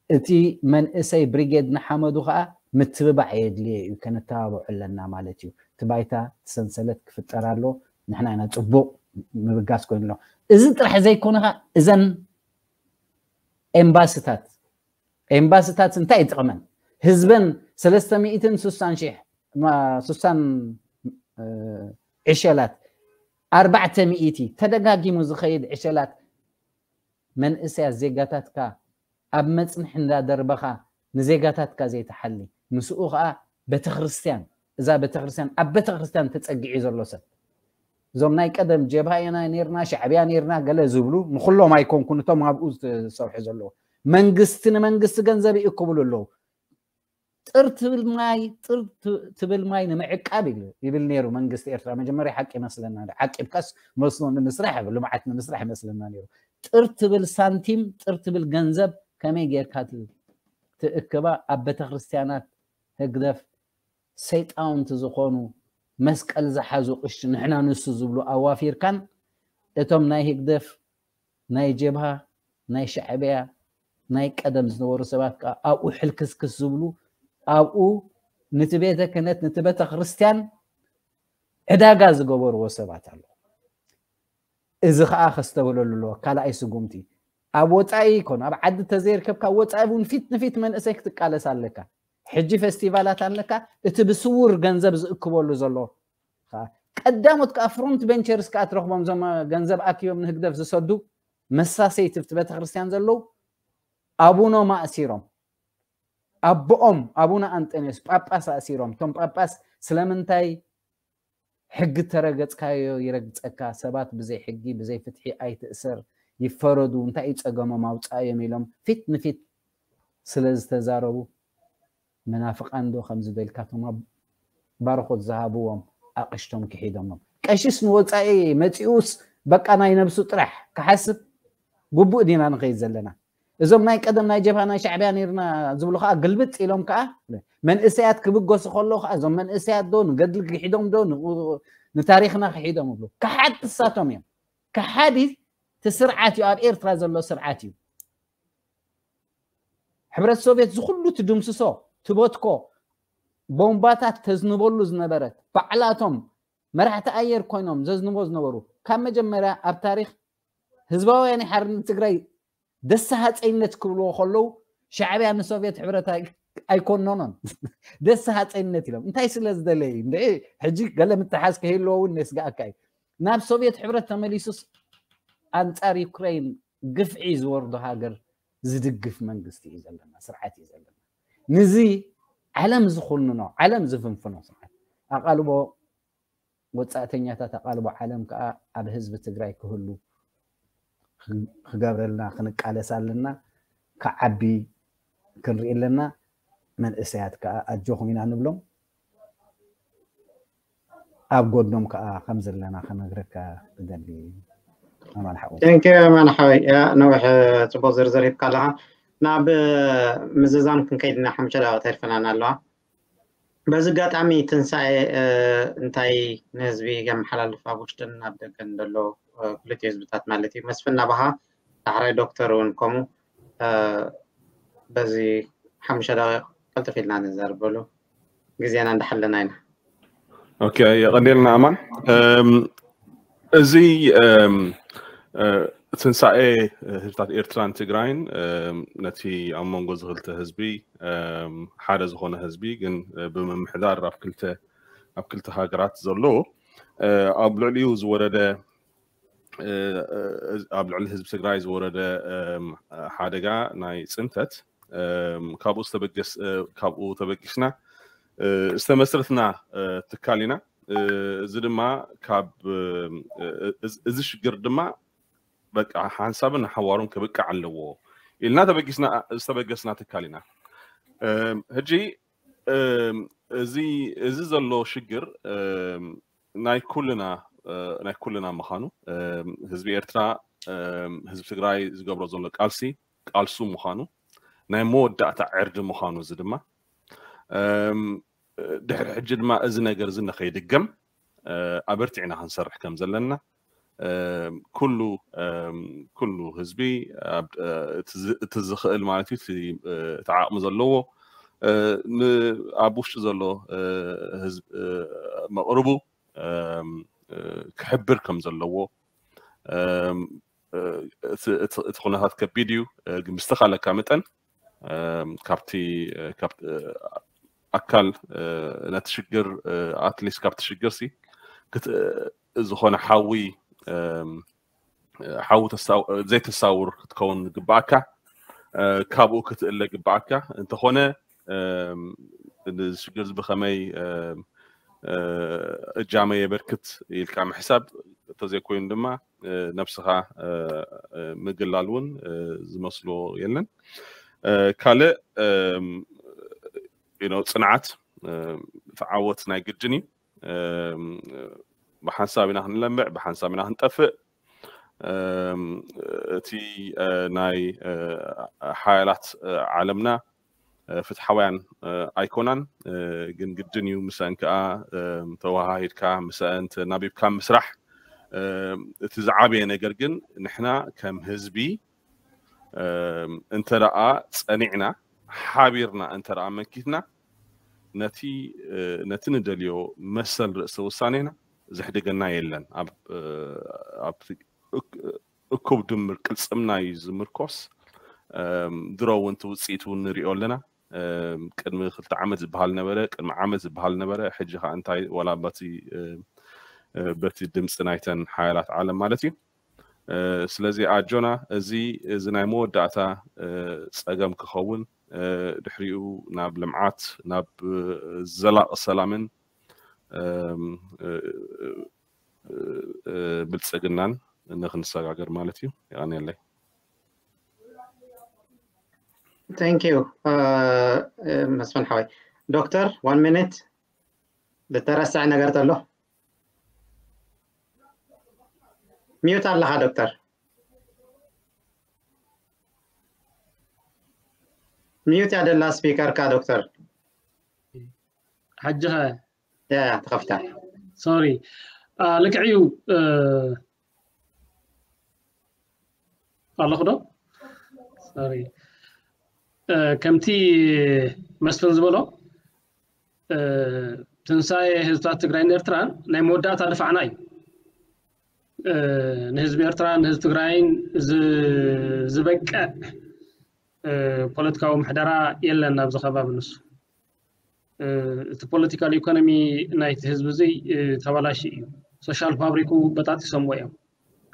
እቲ መንእሰይ ብሪጌድ ንሓመዱ ከዓ ምትብባዕ የድልዮ እዩ። ከነተባብዖ ኣለና ማለት እዩ። እቲ ባይታ እቲ ሰንሰለት ክፍጠር ኣሎ። ንሕና ኢና ፅቡቅ ምብጋስ ኮይኑ ኣሎ። እዚ ጥራሕ ዘይኮነ ከዓ እዘን ኤምባስታት ኤምባስታት እንታይ ይጥቕመን? ህዝበን ሰለስተ ሚእትን ስሳን ሺሕ ስሳን ዕሸላት ኣርባዕተ ሚእቲ ተደጋጊሙ ዝኸይድ ዕሸላት መንእሰያት ዜጋታትካ ኣብ መፅንሒ እንዳደርበኻ ንዜጋታትካ ዘይትሓሊ ምስኡ ከዓ ቤተክርስትያን እዛ ቤተክርስትያን ኣብ ቤተክርስትያን ተፀጊዑ ዘሎ ሰብ እዞም ናይ ቀደም ጀብሃ ኢና ነርና ሻዕብያ ነርና ገለ ዝብሉ ንኩሎም ኣይኮንኩን እቶም ኣብኡ ዝሰርሑ ዘለዉ መንግስቲ ንመንግስቲ ገንዘብ ይእክብሉ ኣለዉ ጥር ትብል ማይ ጥር ትብል ማይ ንምዕቃብ ይብል ነይሩ መንግስቲ ኤርትራ መጀመርያ ሓቂ ይመስለና ዓቂብካስ መስኖ ንምስራሕ ልምዓት ንምስራሕ ይመስለና ነይሩ ጥር ትብል ሳንቲም ጥር ትብል ገንዘብ ከመይ ጌርካ ትእክባ ኣብ ቤተክርስትያናት ህግደፍ ሰይጣውንቲ ዝኾኑ መስቀል ዝሓዙ ቅሽ ንሕና ንሱ ዝብሉ ኣዋፊርካን እቶም ናይ ህግደፍ ናይ ጀብሃ ናይ ሻዕብያ ናይ ቀደም ዝነበሩ ሰባት ከዓ ኣብኡ ሕልክስክስ ዝብሉ ኣብኡ ንቲ ቤተ ክህነት ንቲ ቤተ ክርስትያን ዕዳጋ ዝገበርዎ ሰባት ኣለዉ እዚ ከዓ ከስተብህለሉ ኣለዎ ካልኣይ ስጉምቲ ኣብ ወፃኢ ይኮን ኣብ ዓዲ ተዘይርከብካ ወፃኢ እውን ፊት ንፊት መንእሰይ ክትቃለስ ኣለካ ሕጂ ፌስቲቫላት ኣለካ እቲ ብስውር ገንዘብ ዝእክበሉ ዘሎ ቀዳሞት ከዓ ፍሮንት ቬንቸርስ ከዓ ትረኽቦም እዞም ገንዘብ ኣኪቦም ንህግደፍ ዝሰዱ መሳሰይቲ ብቲ ቤተክርስትያን ዘለዉ ኣቡኖም ኣእሲሮም ኣቦኦም ኣቡነ ኣንጠንዮስ ጳጳስ ኣእሲሮም እቶም ጳጳስ ስለምንታይ ሕጊ ተረገፅካዮ ይረግፀካ ሰባት ብዘይ ሕጊ ብዘይ ፍትሒ ኣይትእሰር ይፈረዱ እንታይ እዩ ፀገሞም ኣውፃእዮም ኢሎም ፊት ንፊት ስለ ዝተዛረቡ መናፍቃን ዶ ከምዚ በልካቶም ባርኾት ዝሃብዎም ኣቕሽቶም ክሒዶሞም ቀሽስ ንወፃኢ መፂኡስ በቃ ናይ ነብሱ ጥራሕ ክሓስብ ግቡእ ዲና ንኸይድ ዘለና እዞም ናይ ቀደም ናይ ጀብሃ ናይ ሻዕብያ ነርና ዝብሉ ከዓ ግልብጥ ኢሎም ከዓ መንእሰያት ክብገሱ ከለዉ ከዓ እዞም መንእሰያት ዶ ንገድሊ ክሒዶም ዶ ንታሪክና ክሒዶም ይብሉ። ከሓድቲ ንሳቶም እዮም። ከሓዲ እቲ ስርዓት እዩ፣ ኣብ ኤርትራ ዘሎ ስርዓት እዩ። ሕብረት ሶቪየት ዝኩሉ ትድምስሶ ትበትኮ ቦምባታት ተዝንበሉ ዝነበረት ባዕላቶም መራሕቲ ኣየር ኮይኖም ዘዝንቦ ዝነበሩ ካብ መጀመርያ ኣብ ታሪክ ህዝባውያን ሓርነት ትግራይ ደስ ሃፀይነት ክብልዎ ከለዉ ሻዕብያ ንሶቪየት ሕብረት ኣይኮነኖን። ደስ ሃፀይነት ኢሎም እንታይ ስለ ዝደለዩ እንደ ሕጂ ገለ ምትሓዝ ከህልዎ እውን የስጋእካ እዩ። ናብ ሶቪየት ሕብረት ተመሊሱስ ኣንፃር ዩክሬን ግፍዒ ዝወርዶ ሃገር ዝድግፍ መንግስቲ እዩ ዘለና፣ ስርዓት እዩ ዘለና። ንዚ ዓለም ዝኹንኖ፣ ዓለም ዝፍንፍኖ ስርዓት ኣቓልቦ ወፃእተኛታት ኣቓልቦ ዓለም ከዓ ኣብ ህዝቢ ትግራይ ክህሉ ክገብረልና ክንቃለስ ኣለና። ክዓቢ ክንርኢ ኣለና። መንእሰያት ከዓ ኣጆኹም ኢና ንብሎም። ኣብ ጎድኖም ከዓ ከም ዘለና ክነግረካ እደሊ። ኣማን ሓወይ። ቴንኪ ኣማን ሓወይ። ያ ነዊሕ ፅቡቅ ዝርዝር ሂብካ ኣለካ። ናብ ምዝዛም ክንከይድ ኢና ሓሙሽተ ደቂቃ ተሪፈናና ኣለዋ። በዚ ኣጋጣሚ ትንሳኤ እንታይ ንህዝቢ የመሓላልፍ ኣብ ውሽጥን ኣብ ደገን ዘሎ ክልቲኡ ህዝብታት ማለት እዩ። መስፍን ናባኻ ዳሕራይ ዶክተር እውን ከምኡ በዚ ሓሙሽተ ደቂቃ ቀልጥፍ ኢልና ንዛረበሉ ግዜና እንዳሓለና ኢና። ኦኬ የቐንየልና ኣማን። እዚ ትንሳኤ ህዝብታት ኤርትራን ትግራይን ነቲ ኣብ መንጎ ዝክልተ ህዝቢ ሓደ ዝኾነ ህዝቢ ግን ብምምሕዳር ኣብ ክልተ ኣብ ክልተ ሃገራት ዘሎ ኣብ ልዕሊኡ ዝወረደ ኣብ ልዕሊ ህዝቢ ትግራይ ዝወረደ ሓደጋ ናይ ፅንተት ካብኡ ዝተበገስ ካብኡ ተበጊስና ዝተመስረትና ትካል ኢና። እዚ ድማ ካብ እዚ ሽግር ድማ በቃ ሓንሳብን ሓዋሩን ክብቃዕ ኣለዎ ኢልና ተበጊስና ዝተበገስና ትካል ኢና። ሕጂ እዚ እዚ ዘሎ ሽግር ናይ ኩልና ናይ ኩልና ምዃኑ ህዝቢ ኤርትራ ህዝቢ ትግራይ ዝገብሮ ዘሎ ቃልሲ ቃልሱ ምዃኑ ናይ መወዳእታ ዕርዲ ምዃኑ እዚ ድማ ድሕሪ ሕጂ ድማ እዚ ነገር እዚ ንኸይድገም ኣበርቲዕና ክንሰርሕ ከም ዘለና ኩሉ ኩሉ ህዝቢ እቲ ዝኽእል ማለት እዩ እቲ ዓቕሚ ዘለዎ ኣብ ውሽጢ ዘሎ ህዝብ መቕርቡ ክሕብር ከም ዘለዎ እቲ ኩነታት ከቢድ እዩ ግን ብዝተኻለካ መጠን ካብቲ ኣካል ነቲ ሽግር ኣትሊስት ካብቲ ሽግር ሲ ዝኾነ ሓዊ ሓዊ ዘይተሳውር ክትከውን ግባኣካ ካብኡ ክትእለ ግባኣካ እንተኾነ እዚ ሽግር እዚ ብኸመይ እጃመ የበርክት ኢልካ ምሕሳብ እንተዘይኮይኑ ድማ ነብስኻ ምግላል እውን ዝመስሎ የለን። ካልእ ጽንዓት እቲ ዓወት ናይ ግድን እዩ። ብሓንሳብ ኢና ክንለምዕ፣ ብሓንሳብ ኢና ክንጠፍእ። እቲ ናይ ሓያላት ዓለምና ፍትሓውያን ኣይኮናን፣ ግን ግድን እዩ ምስአን ከዓ ተወሃሂድካ ምስአን ተናቢብካ ምስራሕ። እቲ ዝዓበየ ነገር ግን ንሕና ከም ህዝቢ እንተ ደኣ ጸኒዕና ሓቢርና እንተ ደኣ መኪትና ነቲ ነቲ ንደልዮ መሰል ርእሰ ውሳኔና ዘሕድገና የለን። ኣብቲ እኩብ ድምር ቅልጽምና እዩ ዝምርኮስ። ድሮ እውን እቲ ውፅኢት እውን ንሪኦ ኣለና። ቅድሚ ክልተ ዓመት ዝበሃል ነበረ፣ ቅድሚ ዓመት ዝበሃል ነበረ። ሕጂ ከዓ እንታይ ዋላ በቲ በቲ ድምፂ ናይተን ሓያላት ዓለም ማለት እዩ። ስለዚ ኣጆና እዚ እዚ ናይ መወዳእታ ፀገም ክኸውን ድሕሪኡ ናብ ልምዓት ናብ ዘላቂ ሰላምን ብልፅግናን ንክንሰጋገር ማለት እዩ። የቐንየለይ። Thank you መስፍን ሓወይ። ዶክተር one minute ልተረስዐ ነገር ተሎ? ሚዩት ኣለኻ ዶክተር። ሚዩት ያደላ ስፒከርካ ዶክተር። ሓጂ ኸ ያ ያ፣ ተኸፊታ። ሶሪ። ልክዕ እዩ። ኣለኹ ዶ? ሶሪ። ከምቲ መስፍን ዝበሎ ትንሳኤ ህዝብታት ትግራይን ኤርትራን ናይ መወዳእታ ድፋዕና እዩ። ንህዝቢ ኤርትራን ንህዝቢ ትግራይን ዝበቅዕ ፖለቲካዊ ምሕደራ የለን ኣብዚ ከባቢ። ንሱ እቲ ፖለቲካል ኢኮኖሚ ናይቲ ህዝቢ እዚ ተባላሽ እዩ። ሶሻል ፋብሪኩ በጣጢሶምዎ እዮም፣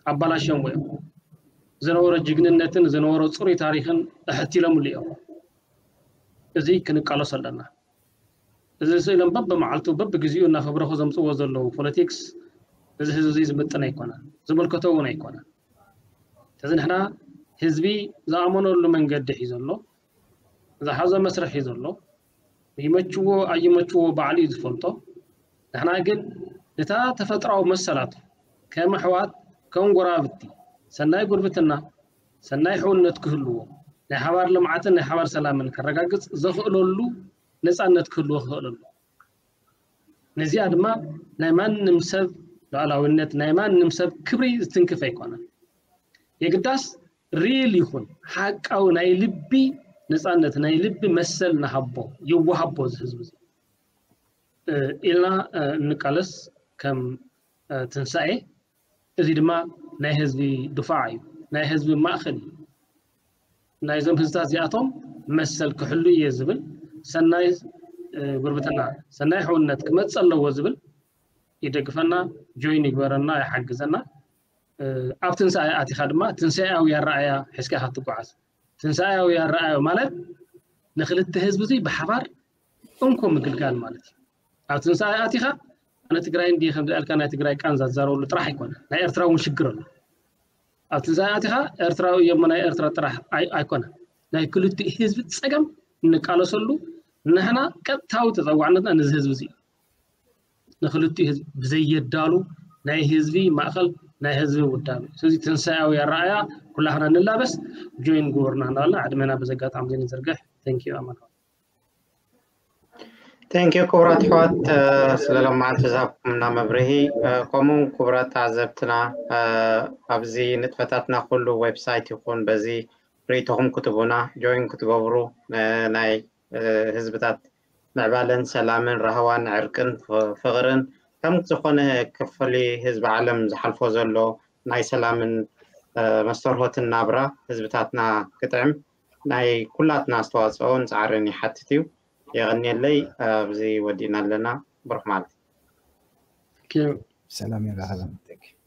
ኣባላሽዮምዎ እዮም። ዝነበሮ ጅግንነትን ዝነበሮ ፅሩይ ታሪክን ኣሕቲሎምሉ እዮም። እዚ ክንቃለሶ ኣለና። እዚ ስእሎም በብመዓልቱ በብግዜኡ እናፈብረኹ ዘምፅዎ ዘለዉ ፖለቲክስ እዚ ህዝቢ እዚ ዝምጥን ኣይኮነን፣ ዝምልከቶ እውን ኣይኮነን። ስለዚ ንሕና ህዝቢ ዝኣመነሉ መንገዲ ሒዞ ኣሎ፣ ዝሓዞ መስርሕ ሒዞ ኣሎ። ይመችዎ ኣይመችዎ ባዕሉ እዩ ዝፈልጦ። ንሕና ግን ነታ ተፈጥራዊ መሰላቱ ከም ኣሕዋት ከም ጎራብቲ ሰናይ ጉርብትና ሰናይ ሕውነት ክህልዎ ናይ ሓባር ልምዓትን ናይ ሓባር ሰላምን ከረጋግፅ ዘኽእለሉ ነፃነት ክህልዎ ክኽእለሉ ነዚኣ ድማ ናይ ማንም ሰብ ሉዓላዊነት ናይ ማንም ሰብ ክብሪ ዝትንክፍ ኣይኮነን። የግዳስ ሪል ይኹን ሓቃዊ ናይ ልቢ ነፃነት ናይ ልቢ መሰል ንሃቦ ይወሃቦ እዚ ህዝቢ እዚ ኢልና እንቃለስ ከም ትንሳኤ። እዚ ድማ ናይ ህዝቢ ድፋዕ እዩ፣ ናይ ህዝቢ ማእኸል እዩ። ናይዞም ህዝብታት እዚኣቶም መሰል ክሕሉ እየ ዝብል ሰናይ ጉርብትና ሰናይ ሕውነት ክመፅ ኣለዎ ዝብል ይደግፈና፣ ጆይን ይግበረና፣ ይሓግዘና። ኣብ ትንሳኤ ኣቲኻ ድማ ትንሳኤያዊ ኣረኣያ ሒዝካ ኢኻ ትጓዓዝ። ትንሳኤያዊ ኣረኣያ ማለት ንክልተ ህዝቢ እዚ ብሓባር እንኮ ምግልጋል ማለት እዩ። ኣብ ትንሳኤ ኣቲኻ ኣነ ትግራይ እንዲ ከምዚ ኣልካ ናይ ትግራይ ቃንዛ ዝዛረበሉ ጥራሕ ኣይኮነ፣ ናይ ኤርትራ እውን ሽግር ኣሎ። ኣብ ትንሳኤ ኣቲኻ ኤርትራዊ እዮም ናይ ኤርትራ ጥራሕ ኣይኮነ፣ ናይ ክልቲኡ ህዝቢ ፀገም እንቃለሰሉ ንሕና ቀጥታዊ ተፀዋዕነትና ነዚ ህዝቢ እዚ እዩ። ንክልቲኡ ህዝቢ ብዘየዳሉ ናይ ህዝቢ ማእኸል ናይ ህዝቢ ውዳብ እዩ። ስለዚ ትንሳኤያዊ ኣረኣያ ኩላህና ንላበስ ጆይን ግበሩና እናበልና ዕድመና በዚ ኣጋጣሚ እዚ ንዝርግሕ። Thank you ኣማን። Thank you ክቡራት ኣሕዋት ስለ ሎም መዓልቲ ዝሃብኩምና መብርሂ፣ ከምኡ ክቡራት ተዓዘብትና ኣብዚ ንጥፈታትና ኩሉ ዌብሳይት ይኹን በዚ ርእይቶኹም ክትቡና ጆይን ክትገብሩ ናይ ህዝብታት ምዕባለን ሰላምን ራህዋን ዕርቅን ፍቕርን ከም ዝኾነ ክፍሊ ህዝቢ ዓለም ዝሓልፎ ዘሎ ናይ ሰላምን መስተርሆትን ናብራ ህዝብታትና ክጥዕም ናይ ኩላትና ኣስተዋፅኦን ፃዕርን ይሓትት እዩ። የቐንየለይ። ኣብዚ ወዲእና ኣለና። ብሩኽ ማለት ሰላም የራኸበን።